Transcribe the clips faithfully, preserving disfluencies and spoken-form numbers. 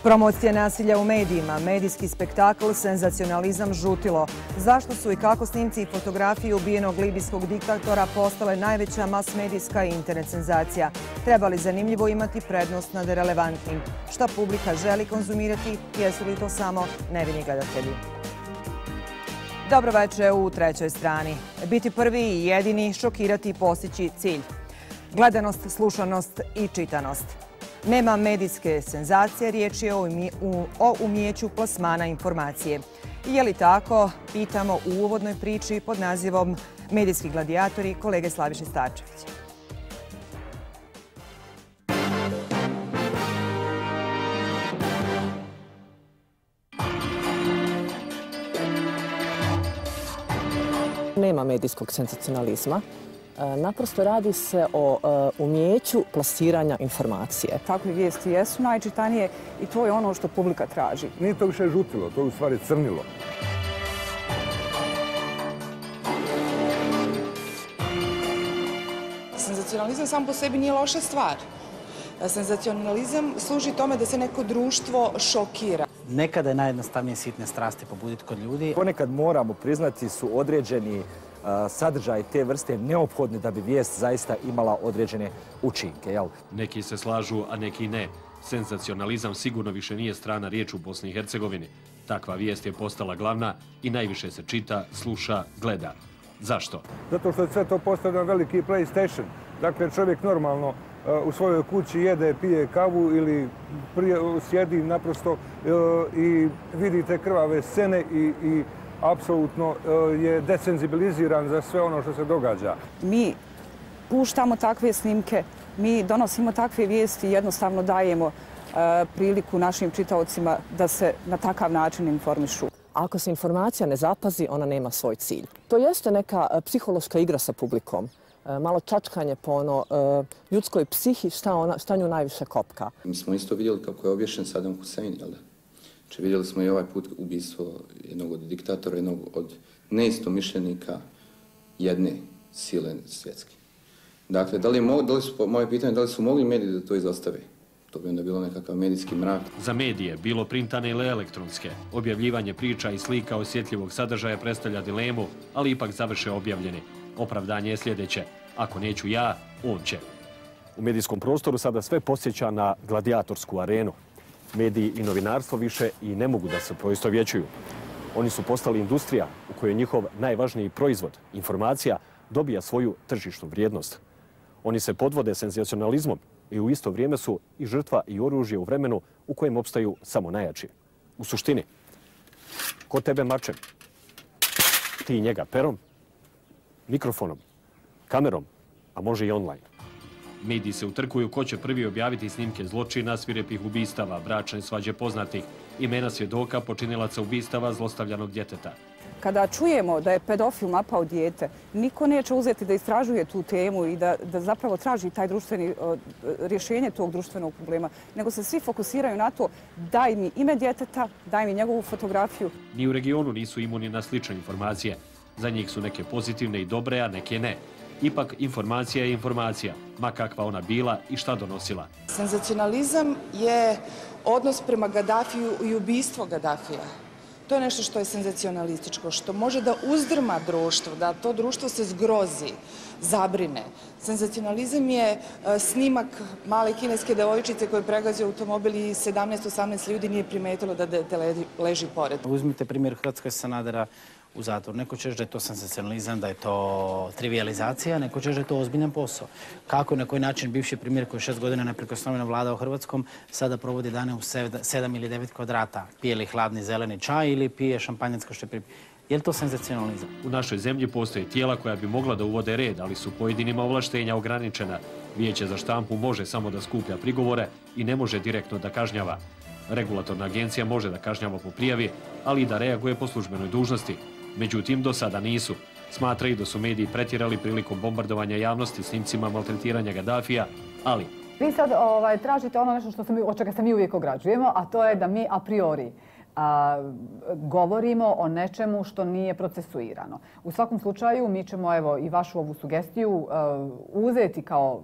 Promocija nasilja u medijima, medijski spektakl, senzacionalizam, žutilo. Zašto su i kako snimci i fotografije ubijenog libijskog diktatora postale najveća mas-medijska i internet senzacija? Treba li zanimljivo imati prednost nad relevantnim? Šta publika želi konzumirati? Jesu li to samo nevini gledatelji? Dobro večer u trećoj strani. Biti prvi i jedini, šokirati i postići cilj. Gledanost, slušanost i čitanost. Nema medijske senzacije, riječ je o umijeću plasmana informacije. Je li tako? Pitamo u uvodnoj priči pod nazivom Medijski gladijatori kolege Slaviše Starčevića. Nema medijskog senzacionalizma. Naprosto radi se o umjeću plasiranja informacije. Takve vijesti jesu najčitanije i to je ono što publika traži. Nije to više žutilo, to je u stvari crnilo. Senzacionalizam sam po sebi nije loša stvar. Senzacionalizam služi tome da se neko društvo šokira. Nekada je najjednostavnije sitne strasti pobuditi kod ljudi. Ponekad moramo priznati su određeni sadržaj te vrste neophodni da bi vijest zaista imala određene učinke. Jel? Neki se slažu, a neki ne. Senzacionalizam sigurno više nije strana riječ u Bosni i Hercegovini. Takva vijest je postala glavna i najviše se čita, sluša, gleda. Zašto? Zato što je sve to postao veliki PlayStation. Dakle, čovjek normalno u svojoj kući jede, pije kavu ili sjedi naprosto i vidite krvave scene i apsolutno je desenzibiliziran za sve ono što se događa. Mi puštamo takve snimke, mi donosimo takve vijesti i jednostavno dajemo priliku našim čitaocima da se na takav način informišu. Ako se informacija ne zapazi, ona nema svoj cilj. To jeste neka psihološka igra sa publikom. Malo čačkanje po ono ljudskoj psihi, šta nju najviše kopka. Mi smo isto vidjeli kako je obješen Saddam Hussein, jel da? Znači, vidjeli smo i ovaj put ubistvo jednog od diktatora, jednog od neistomišljenika jedne sile svjetske. Dakle, da li, mo, da li su, moje pitanje, da li su mogli mediji da to izostave? To bi onda bilo nekakav medijski mrak. Za medije, bilo printane ili elektronske, objavljivanje priča i slika osjetljivog sadržaja predstavlja dilemu, ali ipak završe objavljeni. Opravdanje je sljedeće. Ako neću ja, on će. U medijskom prostoru sada sve podsjeća na gladijatorsku arenu. Mediji i novinarstvo više i ne mogu da se poistovjećuju. Oni su postali industrija u kojoj njihov najvažniji proizvod, informacija, dobija svoju tržišnu vrijednost. Oni se podvode senzacionalizmom i u isto vrijeme su i žrtva i oružje u vremenu u kojem opstaju samo najjači. U suštini, ko tebe mačem, ti njega perom, mikrofonom, kamerom, a može i online. Mediji se utrkuju ko će prvi objaviti snimke zločina, svirepih ubistava, bračne svađe poznatih, imena svjedoka, počinilaca ubistava, zlostavljanog djeteta. Kada čujemo da je pedofil napao dijete, niko neće uzeti da istražuje tu temu i da, da zapravo traži taj društveni, rješenje tog društvenog problema, nego se svi fokusiraju na to daj mi ime djeteta, daj mi njegovu fotografiju. Ni u regionu nisu imuni na slične informacije. Za njih su neke pozitivne i dobre, a neke ne. Ipak informacija je informacija, ma kakva ona bila i šta donosila. Senzacionalizam je odnos prema Gadafiju i ubistvo Gadafija. To je nešto što je senzacionalističko, što može da uzdrma društvo, da to društvo se zgrozi, zabrine. Senzacionalizam je snimak male kineske devojčice koje pregazio automobil i sedamnaest osamnaest ljudi nije primetilo da dete leži pored. Uzmite primjer Hrvatske Sanadera u zatvoru. Neko će da je to senzacionalizam, da je to trivializacija, neko će da je to ozbiljan posao. Kako, na koji način bivši primjer koji je šest godina neprikosnoveno vladao Hrvatskom sada provodi dane u sedam ili devet kvadrata, pije li hladni zeleni čaj ili pije šampanjac što je pripije. Je li to senzacionalizam? U našoj zemlji postoje tijela koja bi mogla da uvode red, ali su pojedinima ovlaštenja ograničena. Vijeće za štampu može samo da skuplja prigovore i ne može direktno da kažnjava. Regulatorna agencija može da kažnjava po prijavi, ali i da reaguje po službenoj dužnosti. Međutim, do sada nisu. Smatraju da su mediji pretjerali prilikom bombardovanja javnosti snimcima maltretiranja Gadafija, ali... Vi sad ovaj, tražite ono nešto što se mi, od čega se mi uvijek ograđujemo, a to je da mi a priori a, govorimo o nečemu što nije procesuirano. U svakom slučaju mi ćemo evo, i vašu ovu sugestiju a, uzeti kao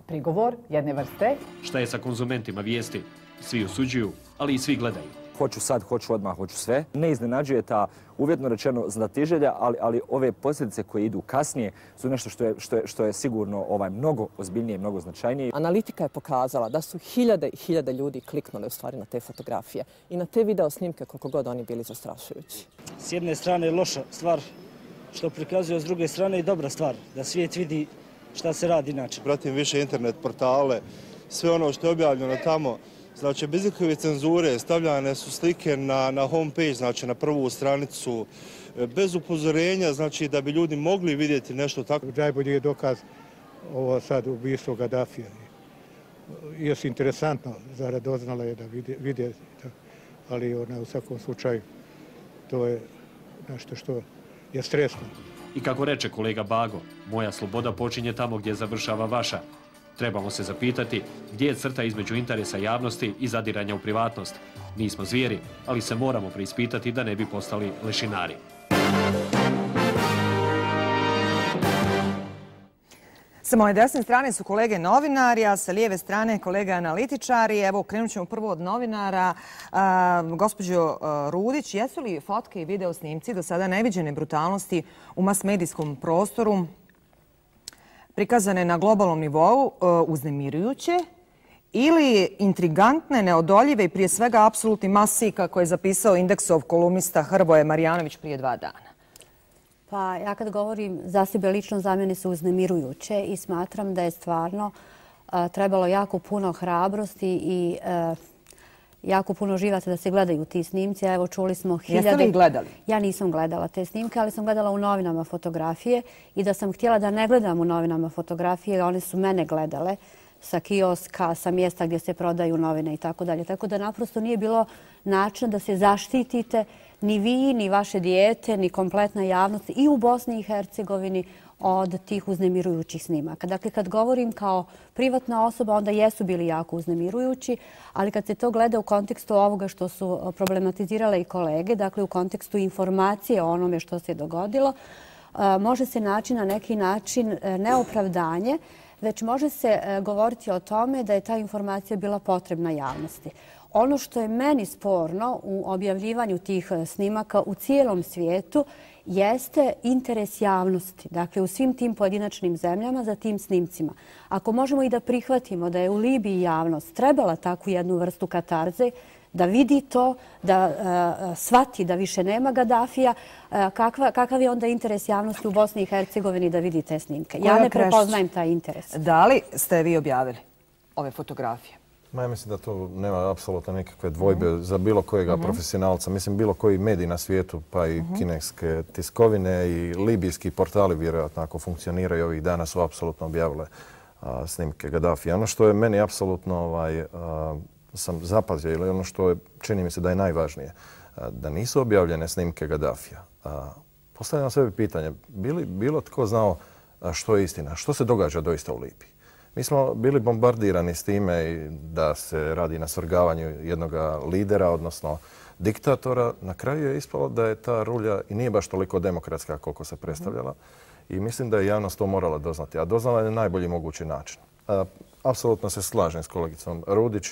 prigovor jedne vrste. Šta je sa konzumentima vijesti? Svi osuđuju, ali i svi gledaju. Hoću sad, hoću odmah, hoću sve. Ne iznenađuje ta uvjetno rečeno znatiželja, ali, ali ove posljedice koje idu kasnije su nešto što je, što je, što je sigurno ovaj, mnogo ozbiljnije i mnogo značajnije. Analitika je pokazala da su hiljade i hiljade ljudi kliknuli u stvari na te fotografije i na te video snimke koliko god oni bili zastrašujući. S jedne strane je loša stvar što prikazuje, s druge strane i dobra stvar, da svijet vidi šta se radi inače. Pratim više internet portale, sve ono što je objavljeno tamo. Znači, bez ikakve cenzure stavljane su slike na, na homepage, znači na prvu stranicu, bez upozorenja, znači da bi ljudi mogli vidjeti nešto tako. Najbolji je dokaz ovo sad ubistvo Gaddafija. Još interesantno, zarad doznala je da vide, vide ali ona, u svakom slučaju to je nešto što je stresno. I kako reče kolega Bago, moja sloboda počinje tamo gdje završava vaša. Trebamo se zapitati gdje je crta između interesa javnosti i zadiranja u privatnost. Nismo zvijeri, ali se moramo preispitati da ne bi postali lešinari. Sa moje desne strane su kolege novinari, a sa lijeve strane kolege analitičari. Evo, krenut ćemo prvo od novinara. Gospođo Rudić, jesu li fotke i video snimci do sada neviđene brutalnosti u mas-medijskom prostoru prikazane na globalnom nivou uznemirujuće ili intrigantne, neodoljive i prije svega apsolutni masi, kako je zapisao Indeksov kolumnista Hrvoje Marjanović prije dva dana? Pa ja kad govorim za sebe lično, za mene su uznemirujuće i smatram da je stvarno trebalo jako puno hrabrosti i jako puno živaca da se gledaju ti snimci. Evo, čuli smo hiljade... Jeste li ih gledali? Ja nisam gledala te snimke, ali sam gledala u novinama fotografije i da sam htjela da ne gledam u novinama fotografije, one su mene gledale sa kioska, sa mjesta gdje se prodaju novine i tako dalje. Tako da naprosto nije bilo načina da se zaštitite ni vi, ni vaše dijete, ni kompletna javnost i u Bosni i Hercegovini od tih uznemirujućih snimaka. Dakle, kad govorim kao privatna osoba, onda jesu bili jako uznemirujući, ali kad se to gleda u kontekstu ovoga što su problematizirale i kolege, dakle u kontekstu informacije o onome što se dogodilo, može se naći na neki način neopravdanje, već može se govoriti o tome da je ta informacija bila potrebna javnosti. Ono što je meni sporno u objavljivanju tih snimaka u cijelom svijetu jeste interes javnosti, dakle u svim tim pojedinačnim zemljama za tim snimcima. Ako možemo i da prihvatimo da je u Libiji javnost trebala takvu jednu vrstu katarze, da vidi to, da uh, shvati da više nema Gaddafija, uh, kakva, kakav je onda interes javnosti u Bosni i Hercegovini da vidi te snimke? Ja ne prepoznajem taj interes. Da li ste vi objavili ove fotografije? Ma ja mislim da to nema apsolutno nikakve dvojbe mm-hmm. za bilo kojega mm-hmm. profesionalca. Mislim, bilo koji medij na svijetu, pa i mm-hmm. kineske tiskovine i libijski portali, vjerojatno ako funkcioniraju ovih dana, su apsolutno objavile a, snimke Gaddafija. Ono što je meni apsolutno ovaj, a, sam zapazio, ili ono što je, čini mi se da je najvažnije, a, da nisu objavljene snimke Gaddafija. A, postavljam sebi pitanje, bili bilo tko znao a, što je istina, što se događa doista u Libiji? Mi smo bili bombardirani s time da se radi na svrgavanju jednog lidera, odnosno diktatora. Na kraju je ispalo da je ta rulja i nije baš toliko demokratska koliko se predstavljala. I mislim da je javnost to morala doznati. A doznala je na najbolji mogući način. Apsolutno se slažem s kolegicom Rudić.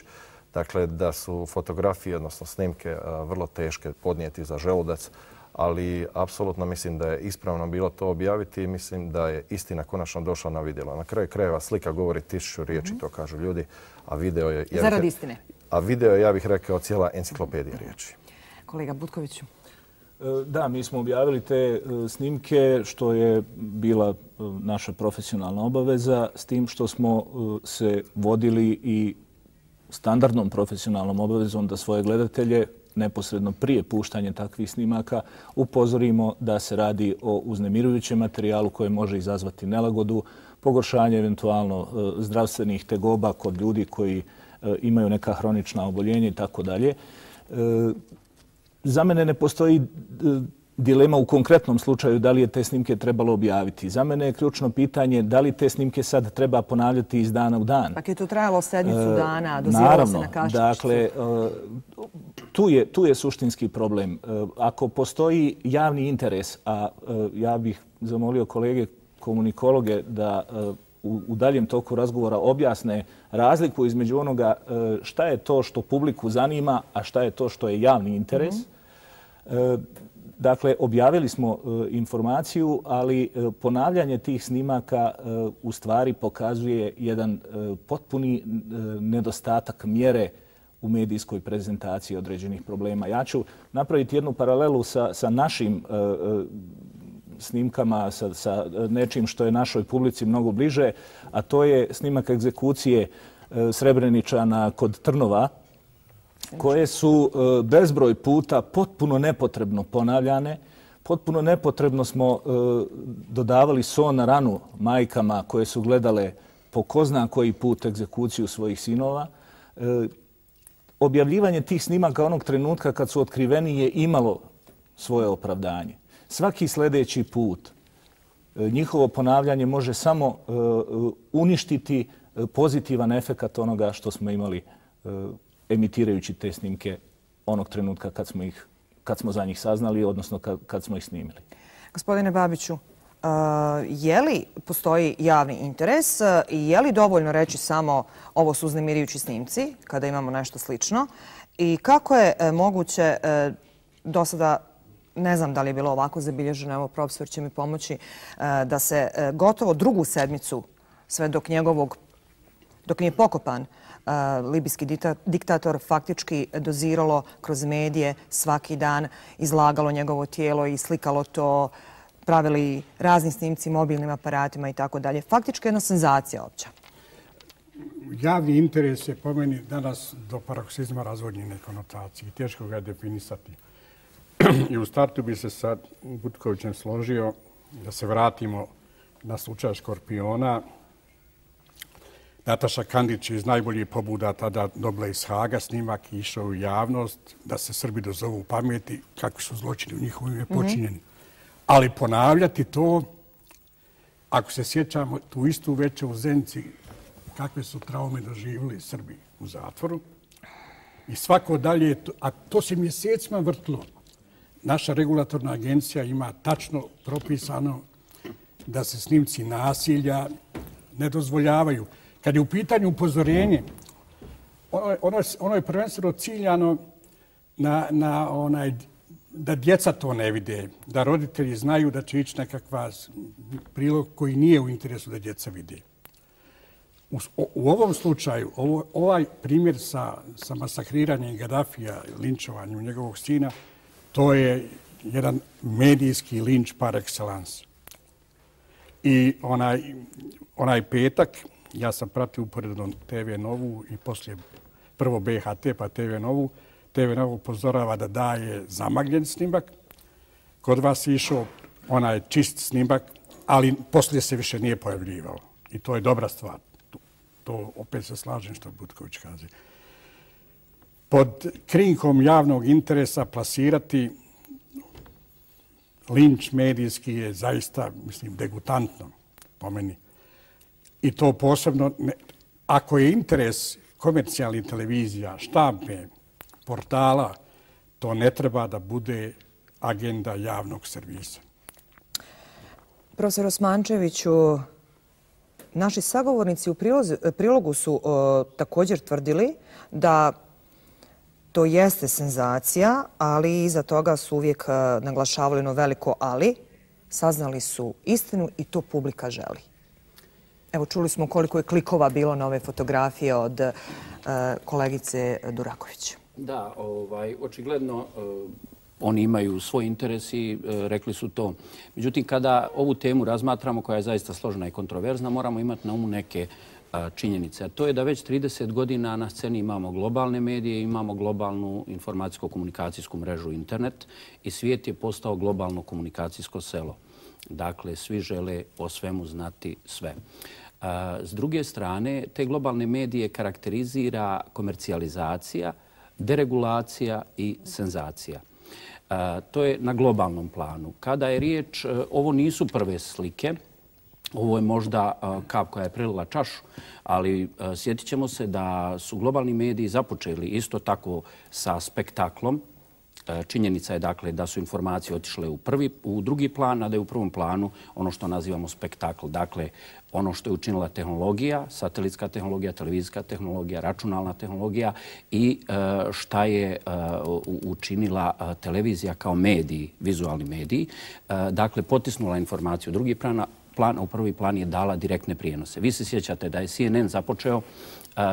Dakle, da su fotografije, odnosno snimke, vrlo teške podnijeti za želudac. Ali apsolutno mislim da je ispravno bilo to objaviti i mislim da je istina konačno došla na vidjelo. Na kraju krajeva slika govori tisuću riječi, mm-hmm. to kažu ljudi, a video je... Ja Zarad istine. A video je, ja bih rekao, cijela enciklopedija riječi. Kolega Butkoviću. Da, mi smo objavili te snimke što je bila naša profesionalna obaveza, s tim što smo se vodili i standardnom profesionalnom obavezom da svoje gledatelje neposredno prije puštanja takvih snimaka upozorimo da se radi o uznemirujućem materijalu koji može izazvati nelagodu, pogoršanje eventualno zdravstvenih tegoba kod ljudi koji imaju neka hronična oboljenja i tako dalje. Za mene ne postoji dilema u konkretnom slučaju da li je te snimke trebalo objaviti. Za mene je ključno pitanje da li te snimke sad treba ponavljati iz dana u dan. Pak je to trajalo sedmicu dana, doziralo se na kašičicu. Dakle, tu je, tu je suštinski problem. Ako postoji javni interes, a ja bih zamolio kolege komunikologe da u, u daljem toku razgovora objasne razliku između onoga šta je to što publiku zanima, a šta je to što je javni interes. Mm-hmm. Dakle, objavili smo informaciju, ali ponavljanje tih snimaka u stvari pokazuje jedan potpuni nedostatak mjere u medijskoj prezentaciji određenih problema. Ja ću napraviti jednu paralelu sa, sa našim snimkama, sa, sa nečim što je našoj publici mnogo bliže, a to je snimak egzekucije Srebreničana kod Trnova, koje su bezbroj puta potpuno nepotrebno ponavljane. Potpuno nepotrebno smo dodavali so na ranu majkama koje su gledale po ko zna koji put egzekuciju svojih sinova. Objavljivanje tih snimaka onog trenutka kad su otkriveni je imalo svoje opravdanje. Svaki sljedeći put njihovo ponavljanje može samo uništiti pozitivan efekat onoga što smo imali emitirajući te snimke onog trenutka kad smo, ih, kad smo za njih saznali, odnosno kad, kad smo ih snimili. Gospodine Babiću, je li postoji javni interes i je li dovoljno reći samo ovo su uznemirujući snimci kada imamo nešto slično i kako je moguće do sada, ne znam da li je bilo ovako zabilježeno, evo profesor će mi pomoći, da se gotovo drugu sedmicu sve dok njegovog, dok nije pokopan, libijski diktator faktički doziralo kroz medije svaki dan, izlagalo njegovo tijelo i slikalo to, pravili razni snimci mobilnim aparatima i tako dalje. Faktički jedna senzacija opća. Javni interes je po meni danas do paroksizma razvodnjene konotacije. Teško ga je definisati. I u startu bi se sa Butkovićem složio da se vratimo na slučaj Škorpiona. Nataša Kandić iz najboljih pobuda tada dobila iz Haga snimak i išao u javnost da se Srbi dozovu u pameti kakvi su zločini u njihovom ime počinjeni. Ali ponavljati to, ako se sjećamo tu istu večer u Zenci, kakve su traume doživjeli Srbi u zatvoru. I svako dalje, a to se mjesecima vrtlo. Naša regulatorna agencija ima tačno propisano da se snimci nasilja ne dozvoljavaju. Kad je u pitanju upozorenje, ono, ono, ono je prvenstveno ciljano na, na onaj, da djeca to ne vide, da roditelji znaju da će ići nekakva prilog koji nije u interesu da djeca vide. U, u ovom slučaju, ovo, ovaj primjer sa, sa masakriranjem Gaddafija, linčovanjem njegovog sina, to je jedan medijski linč par excellence. I onaj, onaj petak, ja sam pratio uporedno te ve Novu i poslije prvo be ha te pa te ve Novu. te ve Novu upozorava da daje zamagljen snimak. Kod vas je išao onaj čist snimak, ali poslije se više nije pojavljivao. I to je dobra stvar. To opet se slažem što Butković kaže. Pod krinkom javnog interesa plasirati linč medijski je zaista, mislim, degutantno po meni. I to posebno, ne, ako je interes komercijalnih televizija, štampe, portala, to ne treba da bude agenda javnog servisa. Profesor Osmančeviću, naši sagovornici u prilozi, prilogu su o, također tvrdili da to jeste senzacija, ali iza toga su uvijek a, naglašavali ono veliko ali. Saznali su istinu i to publika želi. Evo, čuli smo koliko je klikova bilo na ove fotografije od uh, kolegice Duraković. Da, ovaj, očigledno uh, oni imaju svoj interes i uh, rekli su to. Međutim, kada ovu temu razmatramo, koja je zaista složena i kontroverzna, moramo imati na umu neke uh, činjenice. A to je da već trideset godina na sceni imamo globalne medije, imamo globalnu informacijsko-komunikacijsku mrežu internet i svijet je postao globalno komunikacijsko selo. Dakle, svi žele o svemu znati sve. S druge strane, te globalne medije karakterizira komercijalizacija, deregulacija i senzacija. To je na globalnom planu. Kada je riječ, ovo nisu prve slike, ovo je možda kap koja je prelila čašu, ali sjetit ćemo se da su globalni mediji započeli isto tako sa spektaklom, Činjenica je dakle da su informacije otišle u, prvi, u drugi plan, a da je u prvom planu ono što nazivamo spektakl. Dakle, ono što je učinila tehnologija, satelitska tehnologija, televizijska tehnologija, računalna tehnologija i šta je učinila televizija kao mediji, vizualni mediji. Dakle, potisnula informaciju u drugi plan, plan, a u prvi plan je dala direktne prijenose. Vi se sjećate da je C N N započeo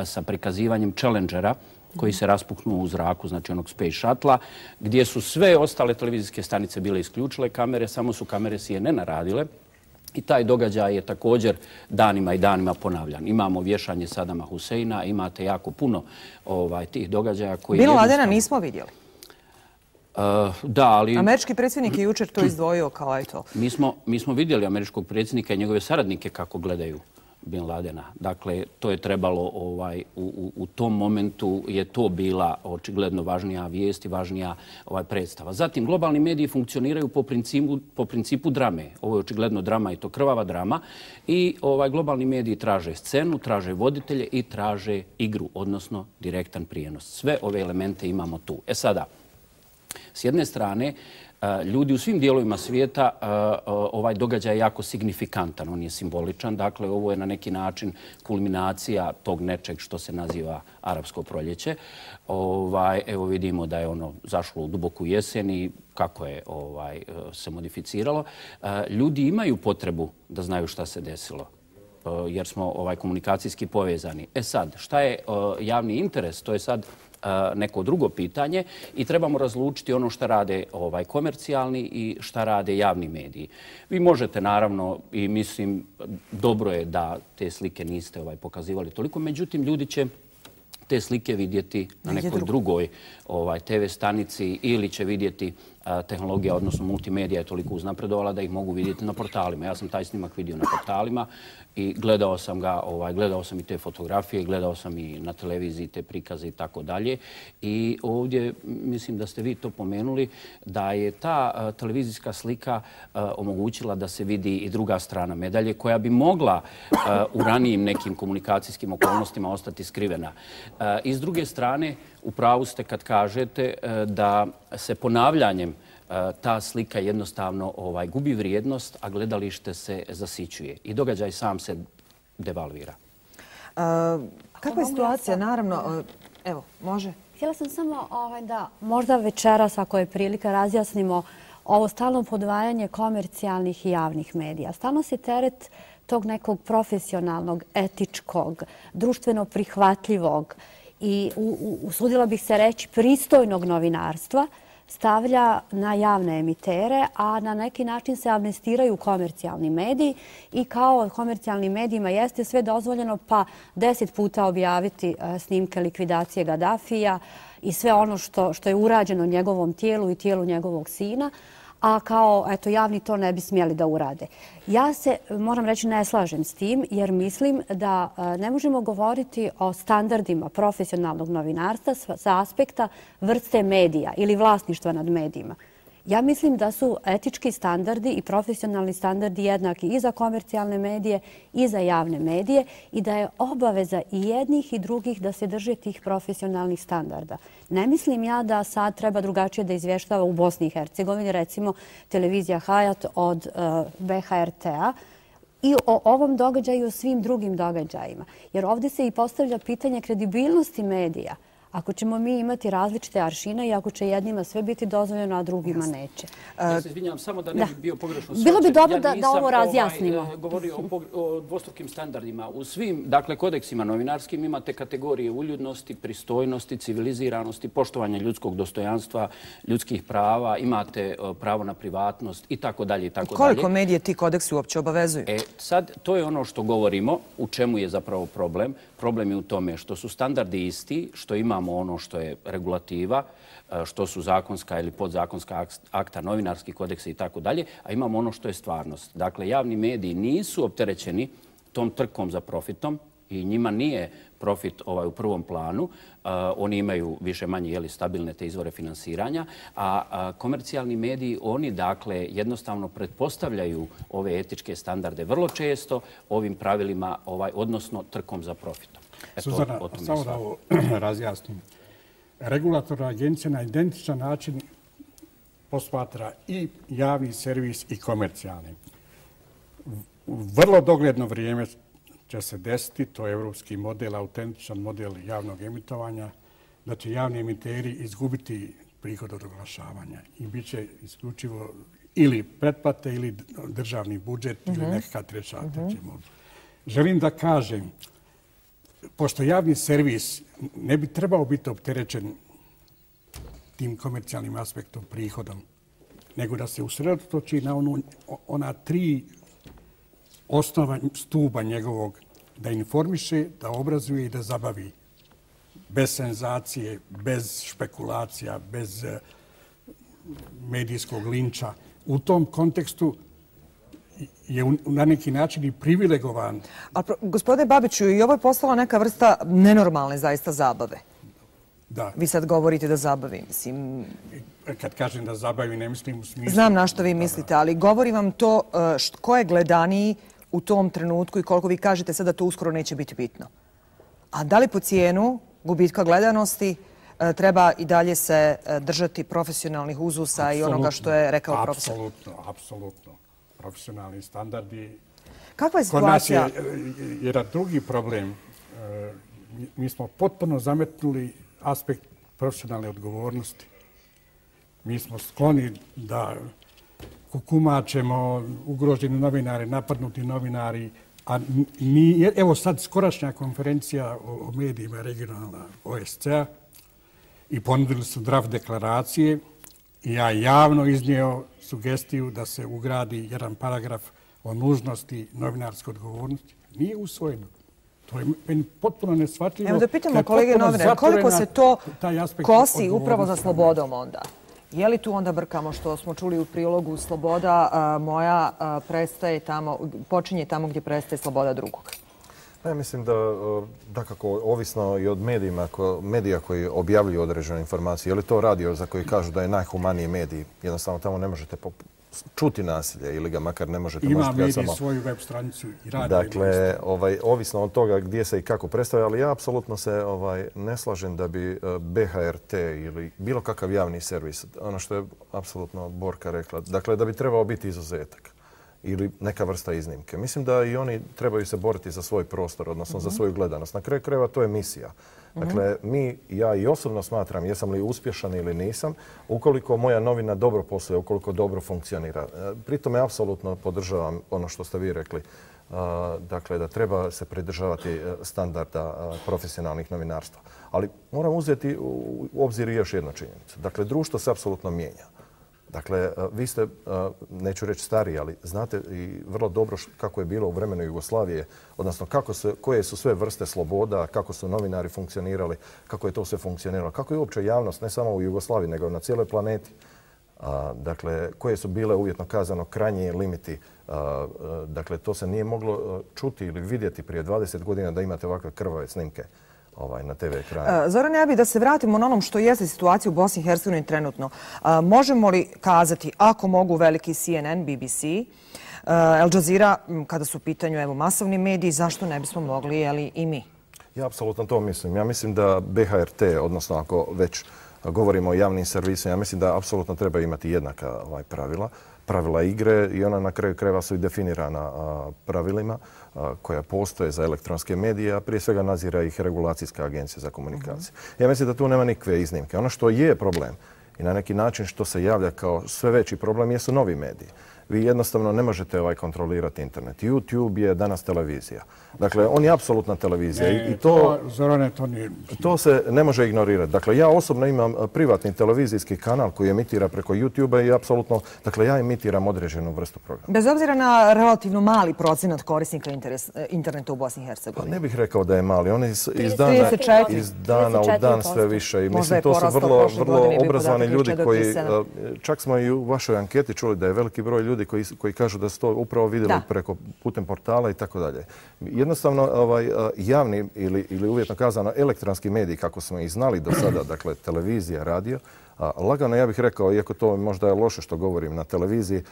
sa prikazivanjem Challengera, koji se raspuknuo u zraku, znači onog Space Shuttle-a, gdje su sve ostale televizijske stanice bile isključile kamere, samo su kamere C N N-a radile. I taj događaj je također danima i danima ponavljan. Imamo vješanje Sadama Huseina, imate jako puno ovaj, tih događaja koji... Bin Ladena nismo vidjeli. Uh, da, ali... Američki predsjednik je jučer to izdvojio kao eto. Mi smo, mi smo vidjeli američkog predsjednika i njegove saradnike kako gledaju Bin Ladena. Dakle, to je trebalo, ovaj, u, u, u tom momentu je to bila očigledno važnija vijest i važnija ovaj, predstava. Zatim, globalni mediji funkcioniraju po principu, po principu drame. Ovo je očigledno drama i to krvava drama. I ovaj, globalni mediji traže scenu, traže voditelje i traže igru, odnosno direktan prijenos. Sve ove elemente imamo tu. E sada, s jedne strane, ljudi u svim dijelovima svijeta ovaj događaj je jako signifikantan, on je simboličan. Dakle, ovo je na neki način kulminacija tog nečeg što se naziva arapsko proljeće. Ovaj, evo vidimo da je ono zašlo u duboku jesen i kako je ovaj, se modificiralo. Ljudi imaju potrebu da znaju šta se desilo jer smo ovaj, komunikacijski povezani. E sad, šta je javni interes? To je sad neko drugo pitanje i trebamo razlučiti ono što rade ovaj, komercijalni i šta rade javni mediji. Vi možete naravno i mislim dobro je da te slike niste ovaj, pokazivali toliko, međutim ljudi će te slike vidjeti na nekoj drugoj ovaj, te ve stanici ili će vidjeti a, tehnologija, odnosno multimedija je toliko uznapredovala da ih mogu vidjeti na portalima. Ja sam taj snimak vidio na portalima i gledao sam ga, ovaj, gledao sam i te fotografije, gledao sam i na televiziji te prikaze i tako dalje. I ovdje mislim da ste vi to pomenuli da je ta a, televizijska slika a, omogućila da se vidi i druga strana medalje koja bi mogla a, u ranijim nekim komunikacijskim okolnostima ostati skrivena. A, I s druge strane, u pravu ste kad kažete da se ponavljanjem ta slika jednostavno ovaj, gubi vrijednost, a gledalište se zasićuje. I događaj sam se devalvira. A, kakva je situacija? Naravno, evo, može. Htjela sam samo ovaj, da možda večeras, ako je prilika, razjasnimo ovo stalno podvajanje komercijalnih i javnih medija. Stalno se teret tog nekog profesionalnog, etičkog, društveno prihvatljivog i usudila bih se reći pristojnog novinarstva stavlja na javne emitere, a na neki način se amnestiraju komercijalni mediji i kao komercijalnim medijima jeste sve dozvoljeno pa deset puta objaviti snimke likvidacije Gaddafija i sve ono što, što je urađeno njegovom tijelu i tijelu njegovog sina, a kao eto, javni to ne bi smjeli da urade. Ja se, moram reći, ne slažem s tim jer mislim da ne možemo govoriti o standardima profesionalnog novinarstva sa aspekta vrste medija ili vlasništva nad medijima. Ja mislim da su etički standardi i profesionalni standardi jednaki i za komercijalne medije i za javne medije i da je obaveza i jednih i drugih da se drže tih profesionalnih standarda. Ne mislim ja da sad treba drugačije da izvještava u Bosni i Hercegovini, recimo televizija Hayat od B H R T-a, i o ovom događaju i o svim drugim događajima. Jer ovdje se i postavlja pitanje kredibilnosti medija. Ako ćemo mi imati različite aršine i ako će jednima sve biti dozvoljeno, a drugima neće. Ja se izvinjam, samo da ne bi bio pogrešno shvaćen. Bilo bi dobro da, da ovo razjasnimo. Ja nisam govorio o, o dvostrukim standardima. U svim dakle, kodeksima novinarskim imate kategorije uljudnosti, pristojnosti, civiliziranosti, poštovanja ljudskog dostojanstva, ljudskih prava, imate pravo na privatnost i tako dalje i tako dalje. Koliko medije ti kodeksi uopće obavezuju? E, sad, to je ono što govorimo, u čemu je zapravo problem. Problem je u tome što su standardi isti, što imamo ono što je regulativa, što su zakonska ili podzakonska akta, novinarski kodeksi i tako dalje, a imamo ono što je stvarnost. Dakle, javni mediji nisu opterećeni tom trkom za profitom i njima nije profit ovaj, u prvom planu. Uh, oni imaju više manje jeli, stabilne te izvore finansiranja, a, a komercijalni mediji, oni dakle jednostavno pretpostavljaju ove etičke standarde vrlo često ovim pravilima, ovaj, odnosno trkom za profitom. Eto, Suzana, samo da ovo razjasnim. Regulatorna agencija na identičan način posmatra i javni servis i komercijalni. U vrlo dogledno vrijeme će se desiti, to je evropski model, autentičan model javnog emitovanja, da će javni emiteri izgubiti prihod od oglašavanja i bit će isključivo ili pretplate ili državni budžet ili nekakav treća treći model. Želim da kažem, pošto javni servis ne bi trebao biti opterećen tim komercijalnim aspektom, prihodom, nego da se usredotoči na onu, ona tri osnova stuba njegovog, da informiše, da obrazuje i da zabavi. Bez senzacije, bez špekulacija, bez medijskog linča. U tom kontekstu je na neki način i privilegovan. A gospodine Babiću, i ovo je postala neka vrsta nenormalne zaista zabave. Da. Vi sad govorite da zabavi, mislim... Kad kažem da zabavi, ne mislim u smislu... Znam na što vi mislite, ali govorim vam to ko je gledaniji u tom trenutku i koliko vi kažete sad da to uskoro neće biti bitno. A da li po cijenu gubitka gledanosti treba i dalje se držati profesionalnih uzusa i onoga što je rekao profesor? Apsolutno, apsolutno. Profesionalni standardi. Kakva je situacija? Kod nas je jedan drugi problem. Mi smo potpuno zametnuli aspekt profesionalne odgovornosti. Mi smo skloni da kukumačemo ugroženi novinari, napadnuti novinari, a ni, evo sad skorašnja konferencija o medijima regionalna O S C A i ponudili su draft deklaracije i ja javno iznio sugestiju da se ugradi jedan paragraf o nužnosti novinarske odgovornosti. Nije usvojeno. To je meni potpuno neshvatljivo. Evo da pitamo kolege novinare, koliko se to kosi upravo za slobodom onda? Je li tu onda brkamo što smo čuli u prilogu sloboda moja prestaje tamo, počinje tamo gdje prestaje sloboda drugog? Ja mislim da, da kako ovisno i od medijima, medija koji objavljuju određene informacije, je li to radio za koji kažu da je najhumaniji medij, jednostavno tamo ne možete čuti nasilje ili ga makar ne možete... Ima medij samo... svoju web stranicu i radi. Dakle, ovaj, ovisno od toga gdje se i kako predstavlja, ali ja apsolutno se ovaj, ne slažem da bi B H R T ili bilo kakav javni servis, ono što je apsolutno Borka rekla, dakle da bi trebao biti izuzetak ili neka vrsta iznimke. Mislim da i oni trebaju se boriti za svoj prostor, odnosno mm-hmm. za svoju gledanost. Na kraju krajeva to je misija. Dakle, mi, ja i osobno smatram jesam li uspješan ili nisam, ukoliko moja novina dobro posluje, ukoliko dobro funkcionira. Pritom ja apsolutno podržavam ono što ste vi rekli. Dakle, da treba se pridržavati standarda profesionalnih novinarstva. Ali moram uzeti u obzir još jednu činjenicu. Dakle, društvo se apsolutno mijenja. Dakle, vi ste, neću reći stariji, ali znate i vrlo dobro kako je bilo u vremenu Jugoslavije, odnosno kako su, koje su sve vrste sloboda, kako su novinari funkcionirali, kako je to sve funkcioniralo, kako je uopće javnost, ne samo u Jugoslaviji, nego na cijeloj planeti. Dakle, koje su bile uvjetno kazano krajnji limiti. Dakle, to se nije moglo čuti ili vidjeti prije dvadeset godina da imate ovakve krvave snimke na te ve ekranu. Zoran, ja bih da se vratimo na onom što jeste situacija u Bosni i Hercegovini trenutno. Možemo li kazati, ako mogu veliki C N N, B B C, Al Jazeera, kada su u pitanju evo, masovni mediji, zašto ne bismo mogli jeli, i mi? Ja apsolutno to mislim. Ja mislim da B H R T, odnosno ako već govorimo o javnim servisima, ja mislim da apsolutno treba imati jednaka ovaj, pravila. Pravila igre i ona na kraju krajeva su i definirana a, pravilima a, koja postoje za elektronske medije, a prije svega nadzira ih Regulacijska agencija za komunikacije. Uh-huh. Ja mislim da tu nema nikakve iznimke. Ono što je problem i na neki način što se javlja kao sve veći problem jesu novi mediji. Vi jednostavno ne možete ovaj kontrolirati internet. YouTube je danas televizija. Dakle, on je apsolutna televizija. Ne, I to, to, Zorane, to, nije... to se ne može ignorirati. Dakle, ja osobno imam privatni televizijski kanal koji emitira preko YouTube-a i apsolutno, dakle, ja emitiram određenu vrstu programa. Bez obzira na relativno mali procenat korisnika interes, interneta u Bosni i Hercegovini. Pa ne bih rekao da je mali. On je iz, iz, dana, iz dana u dan sve više. I mislim, to su vrlo, vrlo obrazovani ljudi koji, čak smo i u vašoj anketi čuli da je veliki broj ljudi koji, koji kažu da su to upravo vidjeli da. preko putem portala i tako dalje. Jednostavno, ovaj, javni ili, ili uvjetno kazano elektronski mediji, kako smo ih znali do sada, dakle televizija, radio, a, lagano ja bih rekao, iako to možda je loše što govorim na televiziji,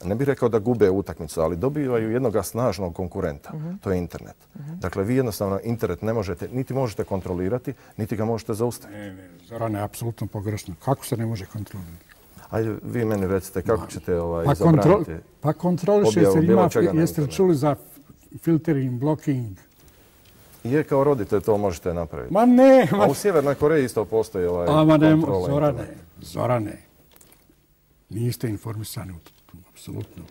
ne bih rekao da gube utakmicu, ali dobivaju jednog snažnog konkurenta. Uh-huh. To je internet. Uh-huh. Dakle, vi jednostavno internet ne možete, niti možete kontrolirati, niti ga možete zaustaviti. Ne, ne, Zorane, apsolutno pogrešno. Kako se ne može kontrolirati? Ajde, vi meni recite kako ćete ovaj, pa zabraniti kontrol, Pa kontroliše se, ima, jeste li čuli za filtering, blocking? Je, kao roditelj to možete napraviti. Ma ne! Ma... A u Sjevernoj Koreji isto postoji ovaj A, ne, kontrola. Zorane, Zorane, niste informisani u tom, apsolutno.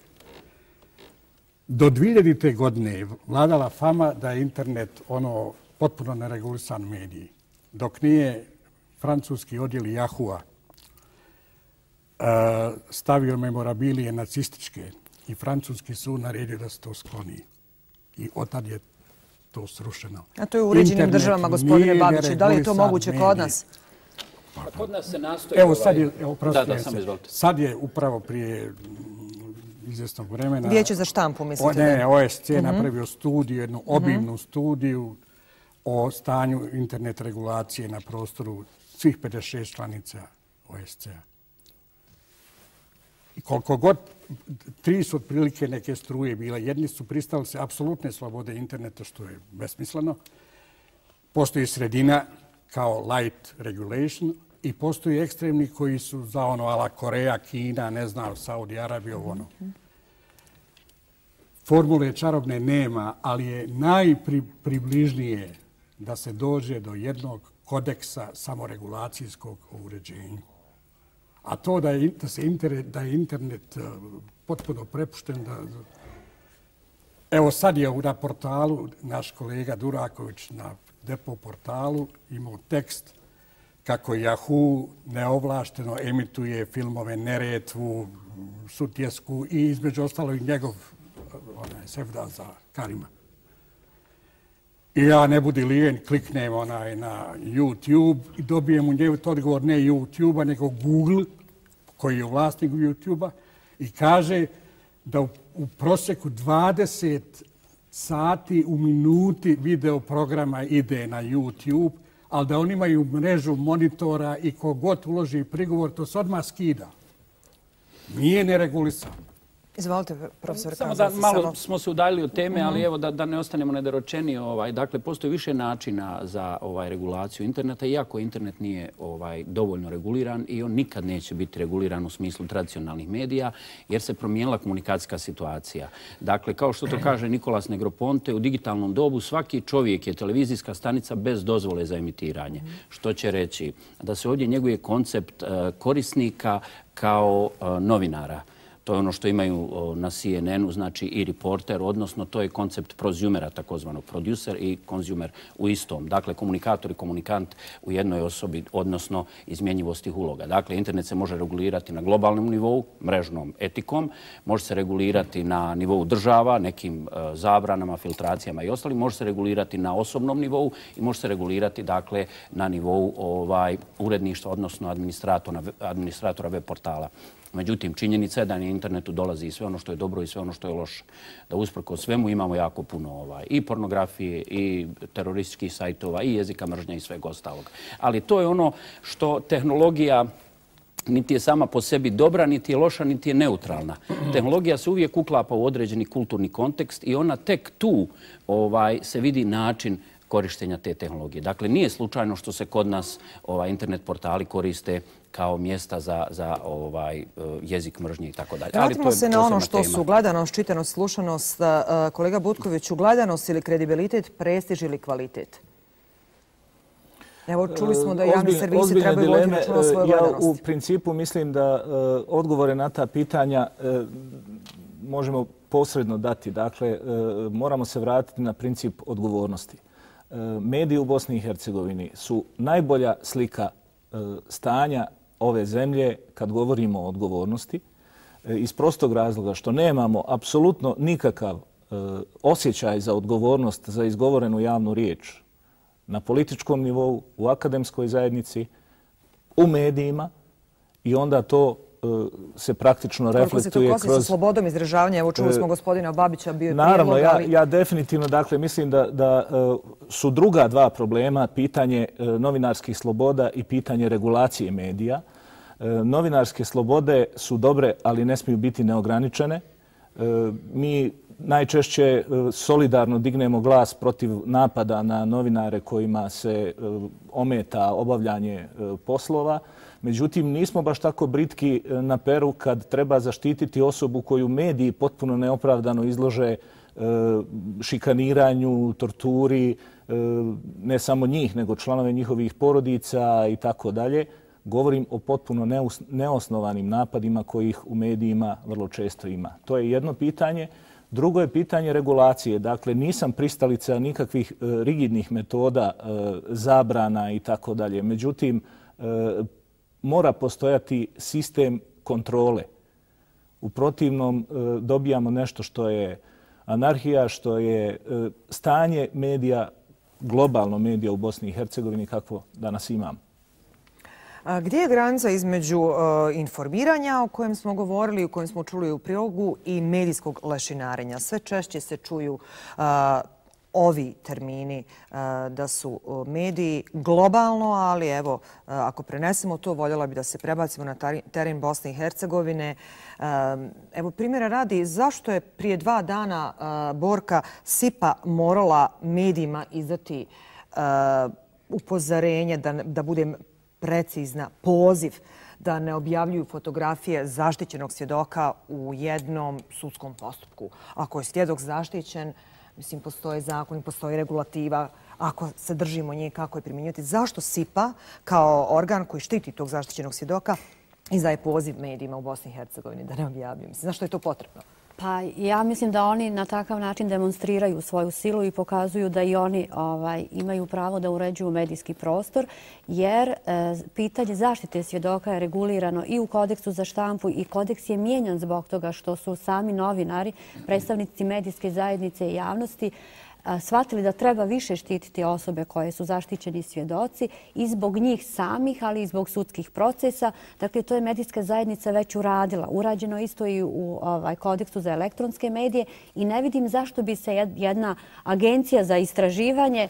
Do dvijeljadite godine vladala fama da je internet ono potpuno neregulisan medij. Dok nije francuski odjel Yahoo-a stavio memorabilije nacističke i francuski sud naredio da se to skloni. I otad je to srušeno. A to je u uređenim državama, gospodine Babiću. Da li je to moguće kod nas? Pa kod nas se nastoji... Evo sad je, evo, da, da, sam izvolite. Sad je upravo prije izvjesnog vremena... Vijeće za štampu, mislite? Ne, O S C napravio studiju, jednu obimnu studiju o stanju internet regulacije na prostoru svih pedeset šest članica O S C-a. I koliko god, tri su otprilike neke struje bila. Jedni su pristali se apsolutne slobode interneta, što je besmisleno. Postoji sredina kao light regulation i postoji ekstremni koji su za ono ala Koreja, Kina, ne znam, Saudi Arabija, ono. Formule čarobne nema, ali je najpribližnije da se dođe do jednog kodeksa samoregulacijskog uređenja. A to da je, da se internet, da je internet uh, potpuno prepušten. Da... Evo sad je na portalu naš kolega Duraković na Depo portalu imao tekst kako Yahoo neovlašteno emituje filmove Neretvu, Sutjesku i između ostalo i njegov onaj, sevda za Karima. I ja ne budi lijen, kliknem onaj na YouTube i dobijem u njegu odgovor ne YouTube-a, nego Google, koji je vlasnik YouTube-a, i kaže da u, u prosjeku dvadeset sati u minuti video programa ide na YouTube, ali da oni imaju mrežu monitora i kogod uloži prigovor, to se odmah skida. Nije neregulisano. Izvolite, profesor. Samo da malo samo... smo se udaljili od teme, ali evo da, da ne ostanemo nedoročeni. Ovaj, dakle, postoji više načina za ovaj, regulaciju interneta, iako internet nije ovaj, dovoljno reguliran i on nikad neće biti reguliran u smislu tradicionalnih medija, jer se promijenila komunikacijska situacija. Dakle, kao što to kaže Nikolas Negroponte, u digitalnom dobu svaki čovjek je televizijska stanica bez dozvole za emitiranje. Što će reći da se ovdje njeguje koncept uh, korisnika kao uh, novinara. To je ono što imaju na C N N-u, znači i reporter, odnosno to je koncept prosumera, takozvanog producer i konzumer u istom. Dakle, komunikator i komunikant u jednoj osobi, odnosno izmjenjivosti uloga. Dakle, internet se može regulirati na globalnom nivou, mrežnom etikom, može se regulirati na nivou država, nekim zabranama, filtracijama i ostalim, može se regulirati na osobnom nivou i može se regulirati, dakle, na nivou ovaj, uredništva, odnosno administratora, administratora web portala. Međutim, činjenica je da na internetu dolazi i sve ono što je dobro i sve ono što je loše. Da usprkos svemu imamo jako puno ovaj, i pornografije, i terorističkih sajtova, i jezika mržnja i svega ostalog. Ali to je ono što tehnologija niti je sama po sebi dobra, niti je loša, niti je neutralna. Tehnologija se uvijek uklapa u određeni kulturni kontekst i ona tek tu ovaj, se vidi način korištenja te tehnologije. Dakle, nije slučajno što se kod nas ovaj, internet portali koriste kao mjesta za, za ovaj, jezik mržnje i tako dalje. Vratimo se na ono što su gledanost, čitanost, slušanost. Kolega Butkoviću, gledanost ili kredibilitet, prestiž ili kvalitet? Evo, čuli smo da javni servisi trebaju voditi računa o svojoj gledanosti. Ja u principu mislim da odgovore na ta pitanja možemo posredno dati. Dakle, moramo se vratiti na princip odgovornosti. Mediji u Bosni i Hercegovini su najbolja slika stanja ove zemlje kad govorimo o odgovornosti iz prostog razloga što nemamo apsolutno nikakav osjećaj za odgovornost za izgovorenu javnu riječ na političkom nivou, u akademskoj zajednici, u medijima i onda to se praktično reflektuje kroz... Koliko se to kosi sa slobodom izražavanja? Evo čuli smo gospodina Babića, bio je prijedlog, naravno, ja, ja definitivno dakle, mislim da, da su druga dva problema, pitanje novinarskih sloboda i pitanje regulacije medija. Novinarske slobode su dobre, ali ne smiju biti neograničene. Mi najčešće solidarno dignemo glas protiv napada na novinare kojima se ometa obavljanje poslova. Međutim, nismo baš tako britki na peru kad treba zaštititi osobu koju mediji potpuno neopravdano izlože šikaniranju, torturi, ne samo njih, nego članove njihovih porodica i tako dalje. Govorim o potpuno neosnovanim napadima kojih u medijima vrlo često ima. To je jedno pitanje. Drugo je pitanje regulacije. Dakle, nisam pristalica nikakvih rigidnih metoda, zabrana i tako dalje. Međutim, mora postojati sistem kontrole. U protivnom dobijamo nešto što je anarhija, što je stanje medija, globalno medija u Bosni i Hercegovini kakvo danas imamo. Gdje je granica između informiranja o kojem smo govorili, o kojem smo čuli u prilogu, i medijskog lešinarenja? Sve češće se čuju ovi termini da su mediji globalno, ali evo, ako prenesemo to, voljela bi da se prebacimo na teren Bosne i Hercegovine. Evo, primjera radi, zašto je prije dva dana Borka Sipa morala medijima izdati upozorenje, da budem precizna, poziv da ne objavljuju fotografije zaštićenog svjedoka u jednom sudskom postupku? Ako je svjedok zaštićen, mislim, postoje zakon, postoji regulativa, ako se držimo nje, kako je primjenjivati. Zašto Sipa, kao organ koji štiti tog zaštićenog svjedoka, izdaje poziv medijima u Bosni i Hercegovini da ne objavljuju? Mislim, zašto je to potrebno? Pa ja mislim da oni na takav način demonstriraju svoju silu i pokazuju da i oni ovaj, imaju pravo da uređuju medijski prostor, jer e, pitanje zaštite svjedoka je regulirano i u kodeksu za štampu, i kodeks je mijenjan zbog toga što su sami novinari, predstavnici medijske zajednice i javnosti, shvatili da treba više štititi osobe koje su zaštićeni svjedoci i zbog njih samih, ali i zbog sudskih procesa. Dakle, to je medijska zajednica već uradila. Urađeno isto i u ovaj, kodeksu za elektronske medije i ne vidim zašto bi se jedna agencija za istraživanje